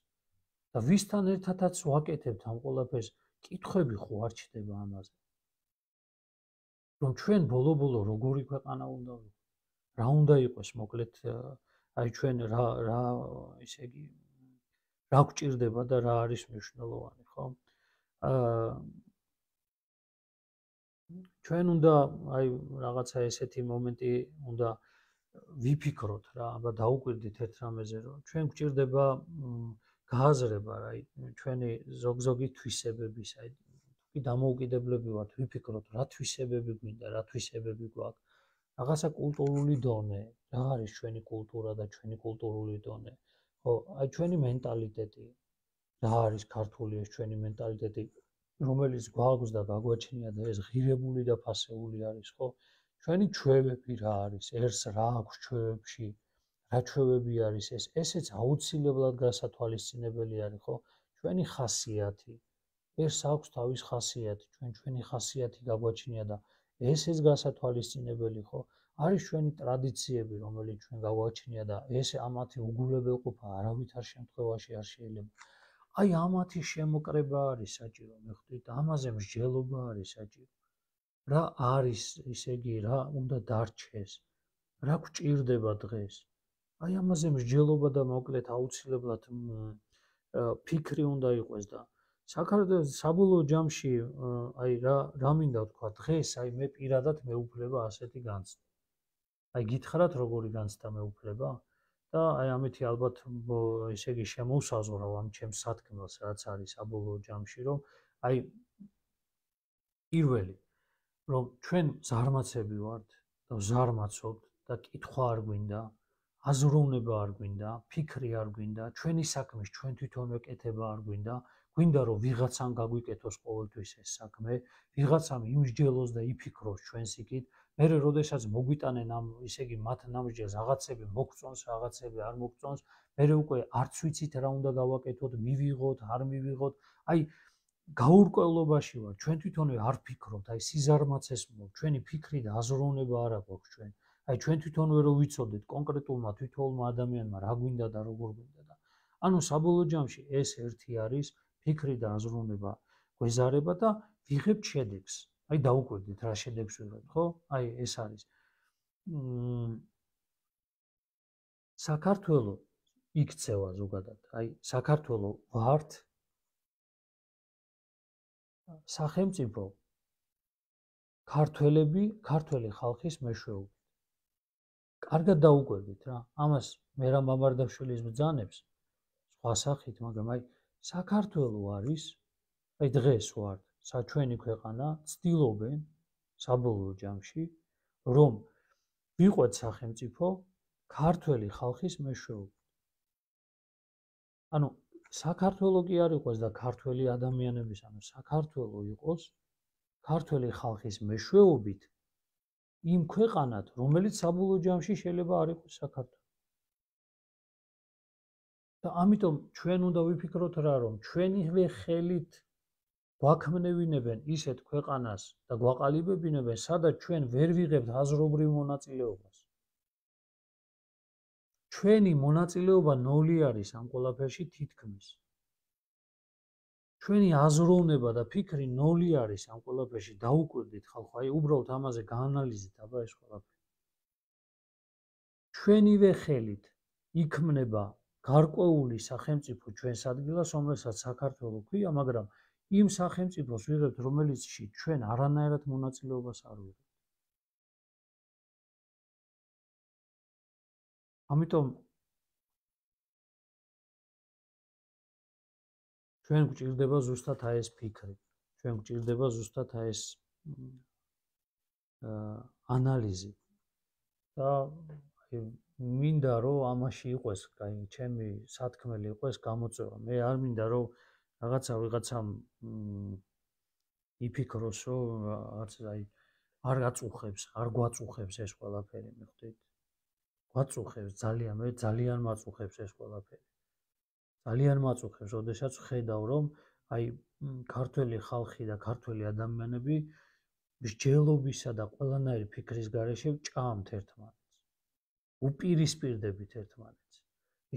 და ვისთან ერთადაც ვაკეთებთ ამ ყველაფერს, კითხვები ხო არ ჩდება ამაზე. რომ ჩვენ ბოლო-ბოლო როგორი ქვეყანა უნდა ვიყო, რა უნდა იყოს, მოკლედ აი ჩვენ რა რა ისე იგი რა გვჭირდება და რა არის მნიშვნელოვანი, ხო? აა ჩვენ უნდა აი რაღაცა ესეთი მომენტი უნდა ვიფიქროთ რა, აბა დაუკვირდით ერთ რამეზე, რომ ჩვენ გვჭირდება გააზრება რა, აი ჩვენი ზოგ-ზოგი თვისებების, აი კი დამოუკიდებლები ვართ, ვიფიქროთ რა თვისებები გვინდა, რა თვისებები გვაქვს. რაღაცა კულტურული დონე, რა არის ჩვენი კულტურა და ჩვენი კულტურული დონე. ხო, აი ჩვენი მენტალიტეტი, რა არის ქართული ეს ჩვენი მენტალიტეტი, რომელიც გვაქვს და გაგვაჩნია და ეს ღირებული და ფასეული არის, ხო? ჩვენი ჩვევები რა არის, ერთს რა აქვს ჩვევებში, რა ჩვევები არის ეს, ესეც აუცილებლად გასათვალისწინებელი არის, ხო? ჩვენი ხასიათი ეს აქვს თავის ხასიათი, ჩვენ ჩვენი ხასიათი გაგვაჩნია და ესეც გასათვალისწინებელი, ხო? არის ჩვენი ტრადიციები, რომელიც ჩვენ გაგვაჩნია და ეს ამათი უგულებელყოფა არავითარ შემთხვევაში არ შეიძლება. აი ამათი შემოკრება არის საჭირო, მე ხვდით, ამაზე მსჯელობა არის საჭირო. რა არის, ისე იგი, რა უნდა დარჩეს, რა გვჭირდება დღეს. აი ამაზე მსჯელობა და მოკლედ აუცილებლად ფიქრი უნდა იყოს და საქართველოს საბოლოო ჯამში აი რა რა მინდა ვთქვა დღეს აი მე პირადად მეუფლება ასეთი განცდა. აი გითხრათ როგორი განცდა მეუფლება და აი ამეთი ალბათ ესე იგი შემოვსაზღვრავ ამ ჩემს სათქმელს რაც არის საბოლოო ჯამში რომ აი პირველი რომ ჩვენ ზარმაცები ვართ და ზარმაცობთ და კითხვა არ გვინდა, აზროვნება არ გვინდა, ფიქრი არ გვინდა, ჩვენი საქმის ჩვენ თვითონ ვეკეთება არ გვინდა. გვინდა რომ ვიღაცამ გაგვიკეთოს ყოველთვის ეს საქმე, ვიღაცამ იმსჯელოს და იფიქროს ჩვენს იქით, მერე როდესაც მოგვიტანენ ამ ისე იგი მათ ნამსჯელს რაღაცები მოგწონს, რაღაცები არ მოგწონს, მერე უკვე არც ვიცით რა უნდა გავაკეთოთ, მივიღოთ, არ მივიღოთ, აი გაურკვევლობაში ვარ, ჩვენ თვითონვე არ ფიქრობთ, აი სიზარმაცეს მოგ, ჩვენი ფიქრი და აზროვნება არ აქვს ჩვენ. აი ჩვენ თვითონვე რო ვიცოდეთ კონკრეტულმა თვითონმა ადამიანმა რა გვინდა და როგორ გვინდა და ანუ საბოლოო ჯამში ეს ერთი არის ფიქრი და აზროვნება გვეზარება და ვიღებთ შედეგს. აი დაუკვირდით რა შედეგს ვიღებთ, ხო? აი ეს არის. საქართველოს იქცევა ზოგადად. აი საქართველოს ვართ სახელმწიფო ქართველები, ქართველი ხალხის მეშვეობით. კარგად დაუკვირდით რა. ამას მე რა მამარდაშვილის ბრძანებს სხვა სახით, მაგრამ აი საქართველოს არის, აი დღეს ვართ, საჩვენი ქვეყანა, ცდილობენ საბოლოო ჯამში, რომ ვიყვეთ სახელმწიფო ქართველი ხალხის მეშვეობით. ანუ საქართველო კი არ იყოს და ქართველი ადამიანების, ანუ საქართველო იყოს ქართველი ხალხის მეშვეობით იმ ქვეყანად, რომელიც საბოლოო ჯამში შეიძლება არ იყოს საქართველო. და ამიტომ ჩვენ უნდა ვიფიქროთ რა, რომ ჩვენივე ხელით გვაქმნევინებენ ისეთ ქვეყანას და გვაყალიბებინებენ, სადაც ჩვენ ვერ ვიღებთ აზრობრივ მონაწილეობას. ჩვენი მონაწილეობა ნოლი არის ამ ყველაფერში თითქმის. ჩვენი აზროვნება და ფიქრი ნოლი არის ამ ყველაფერში. დაუკვირდით ხალხო, აი უბრალოდ ამაზე გაანალიზეთ აბა ეს ყველაფერი. ჩვენივე ხელით იქმნება გარკვეული სახელმწიფო ჩვენს ადგილას, რომელსაც საქართველო ქვია, მაგრამ იმ სახელმწიფოს ვიღებთ, რომელიცში ჩვენ არანაირად მონაწილეობას არ ვიღებთ. ამიტომ ჩვენ გვჭირდება ზუსტად აი ეს ფიქრი. ჩვენ გვჭირდება ზუსტად აი ეს ანალიზი. და აი მინდა რომ ამაში იყოს, აი ჩემი სათქმელი იყოს გამოწვევა. მე არ მინდა რომ რაღაცა ვიღაცამ იფიქროს, რომ რაც აი არ აწუხებს, არ გვაწუხებს ეს ყველაფერი, მიხვდით? გვაწუხებს ძალიან, მე ძალიან მაწუხებს ეს ყველაფერი. ძალიან მაწუხებს, როდესაც ვხედავ, რომ აი ქართველი ხალხი და ქართველი ადამიანები მსჯელობისა და ყველანაირი ფიქრის გარეშე ჭამთ ერთმანეთს. უპირისპირდებით ერთმანეთს.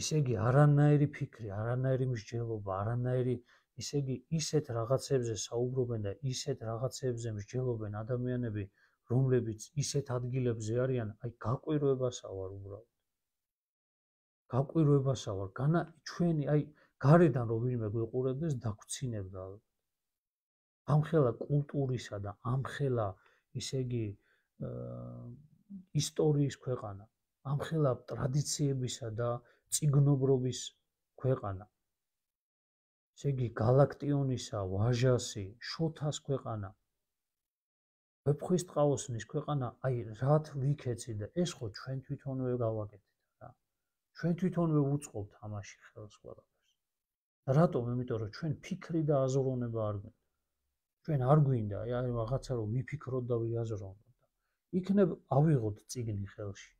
ისე იგი არანაირი ფიქრი, არანაირი მსჯელობა, არანაირი, ისე იგი ისეთ რაღაცებზე საუბრობენ და ისეთ რაღაცებზე მსჯელობენ ადამიანები, რომლებიც ისეთ ადგილებზე არიან, აი გაყვირვებასა ვარ უბრალოდ. გაყვირვებასა ვარ, განა ჩვენი აი გარედან რომ ვინმე გვეყურებდეს დაგვცინებდა. ამხელა კულტურისა და ამხელა ისე იგი ისტორიის ქვეყანა, ამხელა ტრადიციებისა და წიგნობრობის ქვეყანა. ესე იგი გალაქტიონისა, ვაჟასი, შოთას ქვეყანა, ვეფხვისტყაოსნის ქვეყანა, აი რათ ვიქეცი და ეს ხო ჩვენ თვითონვე გავაკეთეთ რა. ჩვენ თვითონვე ვუწყობთ ამაში ხელს ყველაფერს. რატომ? იმიტომ რომ ჩვენ ფიქრი და აზროვნება არ გვინდა. ჩვენ არ გვინდა აი რაღაცა რომ ვიფიქროთ და ვიაზროვნოთ. იქნებ ავიღოთ წიგნი ხელში.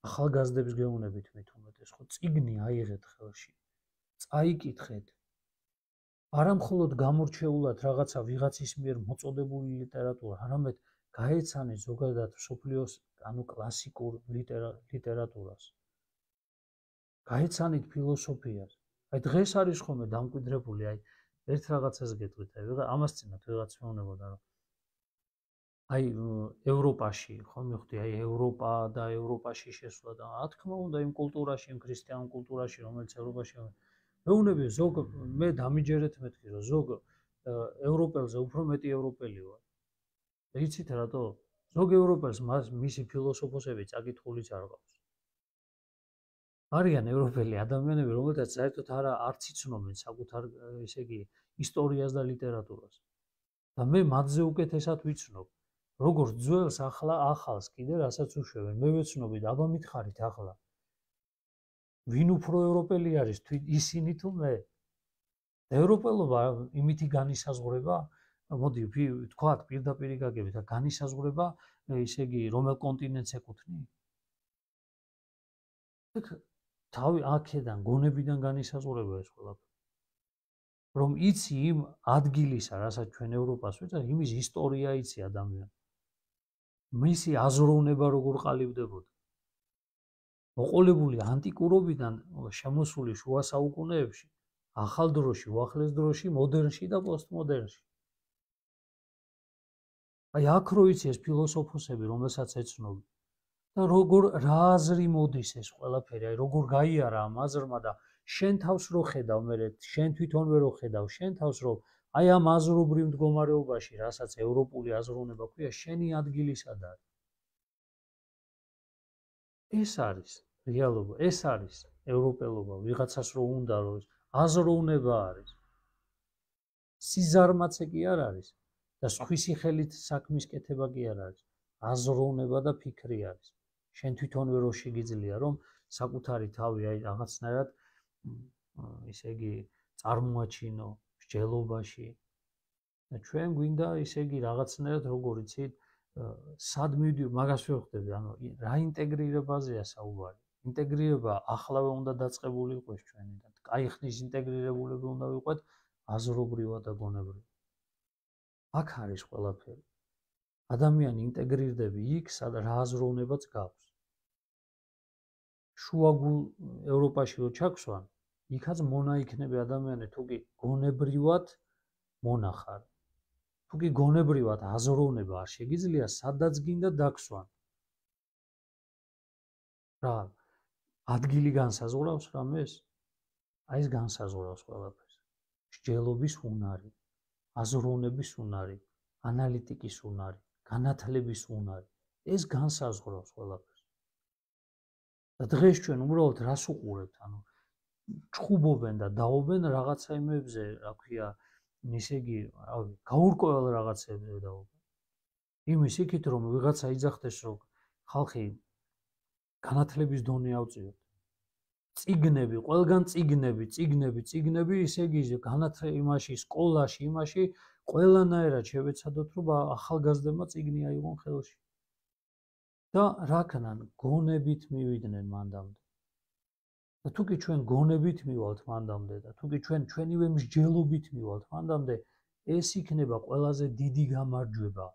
ახალგაზრდებს გეუბნებით მით უმეტეს, ხო წიგნი აიღეთ ხელში. წაიკითხეთ. არა მხოლოდ გამორჩეულად რაღაცა ვიღაცის მიერ მოწოდებული ლიტერატურა, არამედ გაეცანეთ ზოგადად მსოფლიოს ანუ კლასიკურ ლიტერატურას. გაეცანით ფილოსოფიას. აი დღეს არის ხოლმე დამკვიდრებული, აი ერთ რაღაცას გეტყვით, აი ამას წინათ ვიღაც მეუბნებოდა, რომ აი ევროპაში, ხო მივხვდი, აი ევროპა და ევროპაში შესვლა და რა თქმა უნდა იმ კულტურაში, იმ ქრისტიან კულტურაში, რომელიც ევროპაში მეუბნები ზოგ მე დამიჯერეთ მეთქი, რომ ზოგ ევროპელზე უფრო მეტი ევროპელი ვარ. იცით რატო? ზოგ ევროპელს მისი ფილოსოფოსები წაკითხულიც არ ყავს. არიან ევროპელი ადამიანები, რომელთაც საერთოდ არა არც იცნობენ საკუთარ ესე იგი ისტორიას და ლიტერატურას. და მე მათზე უკეთესად ვიცნობ. როგორც ძველს ახლა ახალს კიდე რასაც უშვებენ. მე ვეცნობი და აბა მითხარით ახლა. ვინ უფრო ევროპელი არის, ისინი თუ მე? ევროპელობა იმითი განისაზღვრება, მოდი ვთქვათ პირდაპირ გაგებით, განისაზღვრება ისე იგი რომელ კონტინენტს ეკუთვნი? თავი აქედან, გონებიდან განისაზღვრება ეს ყველაფერი. რომ იცი იმ ადგილისა, რასაც ჩვენ ევროპას ვეძახით, იმის ისტორია იცი ადამიანი. მისი აზროვნება როგორ ყალიბდებოდა. მოყოლებული ანტიკურობიდან შემოსული შუა საუკუნეებში, ახალ დროში, უახლეს დროში, მოდერნში და პოსტმოდერნში. აი აქ რო იცი ეს ფილოსოფოსები, რომელსაც ეცნობი. და როგორ რა აზრი მოდის ეს ყველაფერი, აი როგორ გაიარა ამ აზრმა და შენ თავს რო ხედავ, მე შენ თვითონვე რო ხედავ, შენ თავს რო აი ამ აზრობრივ მდგომარეობაში, რასაც ევროპული აზროვნება ქვია, შენი ადგილი სად არის? ეს არის რეალობა, ეს არის ევროპელობა, ვიღაცას რო უნდა რომ აზროვნება არის. სიზარმაცე კი არ არის და სხვისი ხელით საქმის კეთება კი არ არის. აზროვნება და ფიქრი არის. შენ თვითონვე რო შეგიძლია რომ საკუთარი თავი აი რაღაცნაირად ისე იგი წარმოაჩინო მსჯელობაში და ჩვენ გვინდა ისე იგი რაღაცნაირად როგორ იცით სად მივდივარ მაგას ვხვდები ანუ რა ინტეგრირებაზეა საუბარი ინტეგრირება ახლავე უნდა დაწყებული იყოს ჩვენიდან კაი ხნის ინტეგრირებულები უნდა ვიყოთ აზრობრივად და გონებრივად აქ არის ყველაფერი ადამიანი ინტეგრირდები იქ სადაც რა აზროვნებაც გაქვს შუაგულ ევროპაში რო ჩაქვსვან იქაც მონა იქნება ადამიანი თუკი გონებრივად მონახარ თუკი გონებრივად აზროვნება არ შეგიძლია სადაც გინდა დაქსვან რა ადგილი განსაზღვრავს რამეს აი ეს განსაზღვრავს ყველაფერს მსჯელობის უნარი აზროვნების უნარი ანალიტიკის უნარი განათლების უნარი ეს განსაზღვრავს ყველაფერს და დღეს ჩვენ უბრალოდ რას უყურებთ ანუ ჩხუბობენ და დაობენ რაღაცა იმებზე რა ქვია ისე იგი რავი გაურკვეველ რაღაცებზე დაობენ იმის იქით რომ ვიღაცა იძახდეს რომ ხალხი განათლების დონე ავწიოთ წიგნები ყველგან წიგნები წიგნები წიგნები ისე იგი განათლება იმაში სკოლაში იმაში ყველანაირად შევეცადოთ რომ ახალგაზრდებმა წიგნი აიღონ ხელში და რა ქნან გონებით მივიდნენ მანდამდე და თუკი ჩვენ გონებით მივალთ მანდამდე და თუკი ჩვენ ჩვენივე მსჯელობით მივალთ მანდამდე ეს იქნება ყველაზე დიდი გამარჯვება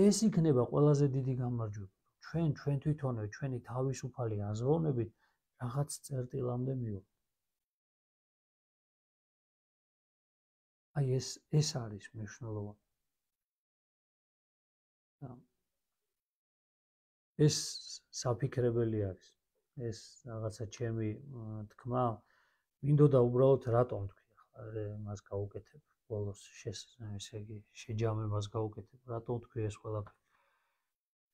ეს იქნება ყველაზე დიდი გამარჯვება ჩვენ ჩვენ თვითონვე ჩვენი თავისუფალი აზროვნებით რაღაც წერტილამდე მივვალთ აი ეს ეს არის მნიშვნელოვანი ეს საფიქრებელი არის ეს რაღაცა ჩემი თქმა მინდოდა უბრალოდ რატომ თქვი ახლა მას გავუკეთებ ბოლოს ესე იგი შეჯამებას გავუკეთებ რატომ თქვი ეს ყველაფერი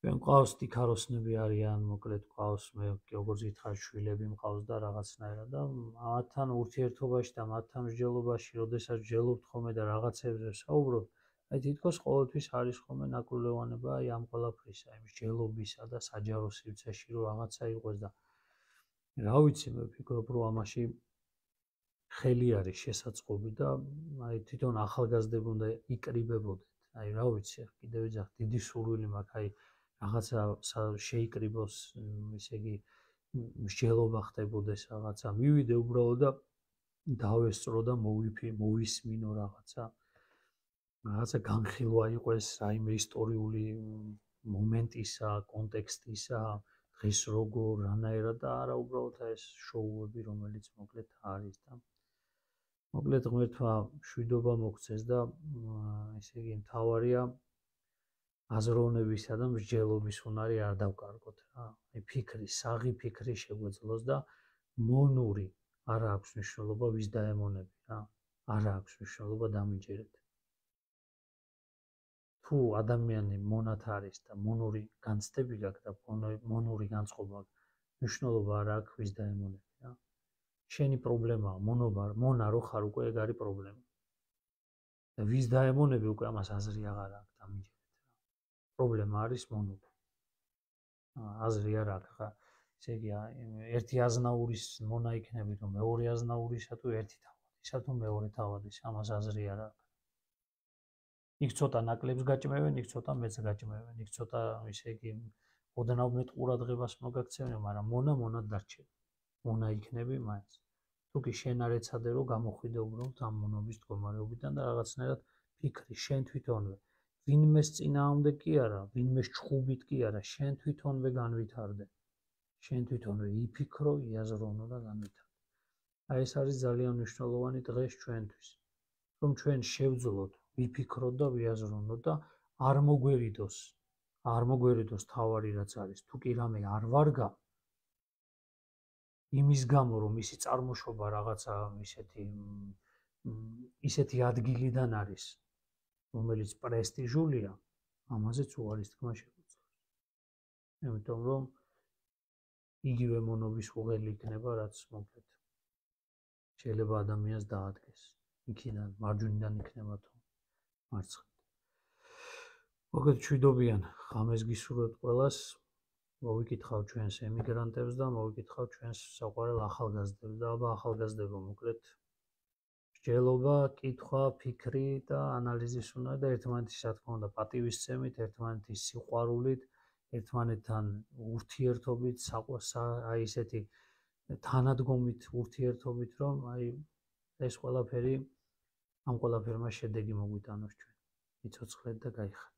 ჩვენ ყავს დიქაროსნები არიან მოკლედ ყავს მე როგორც გითხარ შვილები მყავს და რაღაცნაირად და მათთან ურთიერთობაში და მათთან მსჯელობაში როდესაც მსჯელობთ ხოლმე და რაღაცებზე საუბრობთ აი თითქოს ყოველთვის არის ხოლმე ნაკურლევანება აი ამ ყველაფრისა იმ მსჯელობისა და საჯარო სივრცეში რომ რაღაცა იყოს და რა ვიცი მე ვფიქრობ რომ ამაში ხელი არის შესაწყობი და აი თვითონ ახალგაზრდები უნდა იკრიბებოდეთ აი რა ვიცი კიდევ ვიძახ დიდი სურვილი მაქვს აი რაღაცა შეიკრიბოს ისე იგი მსჯელობა ხდებოდეს რაღაცა მივიდე უბრალოდ და დავესწრო და მოვიფი მოვისმინო რაღაცა რაღაცა განხილვა იყოს რაიმე ისტორიული მომენტისა კონტექსტისა დღეს როგორ რანაირად და არა უბრალოდ ეს შოუები რომელიც მოკლედ არის და მოკლედ ღმერთმა მშვიდობა მოგცეს და ესე იგი მთავარია აზროვნებისა და მსჯელობის უნარი არ დავკარგოთ რა აი ფიქრი საღი ფიქრი შეგვეძლოს და მონური არ აქვს მნიშვნელობა ვის დაემონები რა არ აქვს მნიშვნელობა დამიჯერეთ თუ ადამიანი მონათ არის და მონური განცდები გაქვს და მონური განწყობა მნიშვნელობა არ აქვს ვის დაემონები რა შენი პრობლემაა მონობა მონა რო ხარ უკვე ეგ არის პრობლემა და ვის დაემონები უკვე ამას აზრი აღარ აქვს დამიჯერეთ პრობლემა არის მონობა აზრი არ აქვს ხა ესე იგი ერთი აზნაურის მონა იქნები თუ მეორე აზნაურისა თუ ერთი თავადისა თუ მეორე თავადის ამას აზრი არ აქვს იქ ცოტა ნაკლებს გაჭმევენ იქ ცოტა მეც გაჭმევენ იქ ცოტა ისე იგი ოდნავ მეტ ყურადღებას მოგაქცევენ მაგრამ მონა მონად დარჩება მონა იქნები მაინც თუკი შენ არ ეცადე რომ გამოხვიდე უბრალოდ ამ მონობის მდგომარეობიდან და რაღაცნაირად ფიქრი შენ თვითონვე ვინმეს წინააღმდეგ კი არა ვინმეს ჩხუბით კი არა შენ თვითონვე განვითარდე შენ თვითონვე იფიქრო იაზროვნო და განვითარდე აი ეს არის ძალიან მნიშვნელოვანი დღეს ჩვენთვის რომ ჩვენ შევძლოთ ვიფიქროთ და ვიაზროვნოთ და არ მოგვერიდოს არ მოგვერიდოს თავარი რაც არის თუ კი რამე არ ვარგა იმის გამო რომ ისი წარმოშობა რაღაცა ისეთი ისეთი ადგილიდან არის რომელიც პრესტიჟულია ამაზეც უარის თქმა შეგვიძლია იმიტომ რომ იგივე მონობის უღელი იქნება რაც მოკლედ შეიძლება ადამიანს დაადგეს იქიდან მარჯვნიდან იქნება თუ მარცხნიდან. მოკლედ მშვიდობიან ღამეს გისურვებთ ყველას მოვიკითხავ ჩვენს ემიგრანტებს და მოვიკითხავ ჩვენს საყვარელ ახალგაზრდებს და აბა ახალგაზრდებო მოკლედ მსჯელობა, კითხვა, ფიქრი და ანალიზის უნდა და ერთმანეთის რა თქმა უნდა პატივისცემით, ერთმანეთის სიყვარულით, ერთმანეთთან ურთიერთობით, აი ესეთი თანადგომით ურთიერთობით, რომ აი ეს ყველაფერი ამ ყველაფერმა შედეგი მოგვიტანოს ჩვენ. იცოცხლეთ და გაიხარეთ.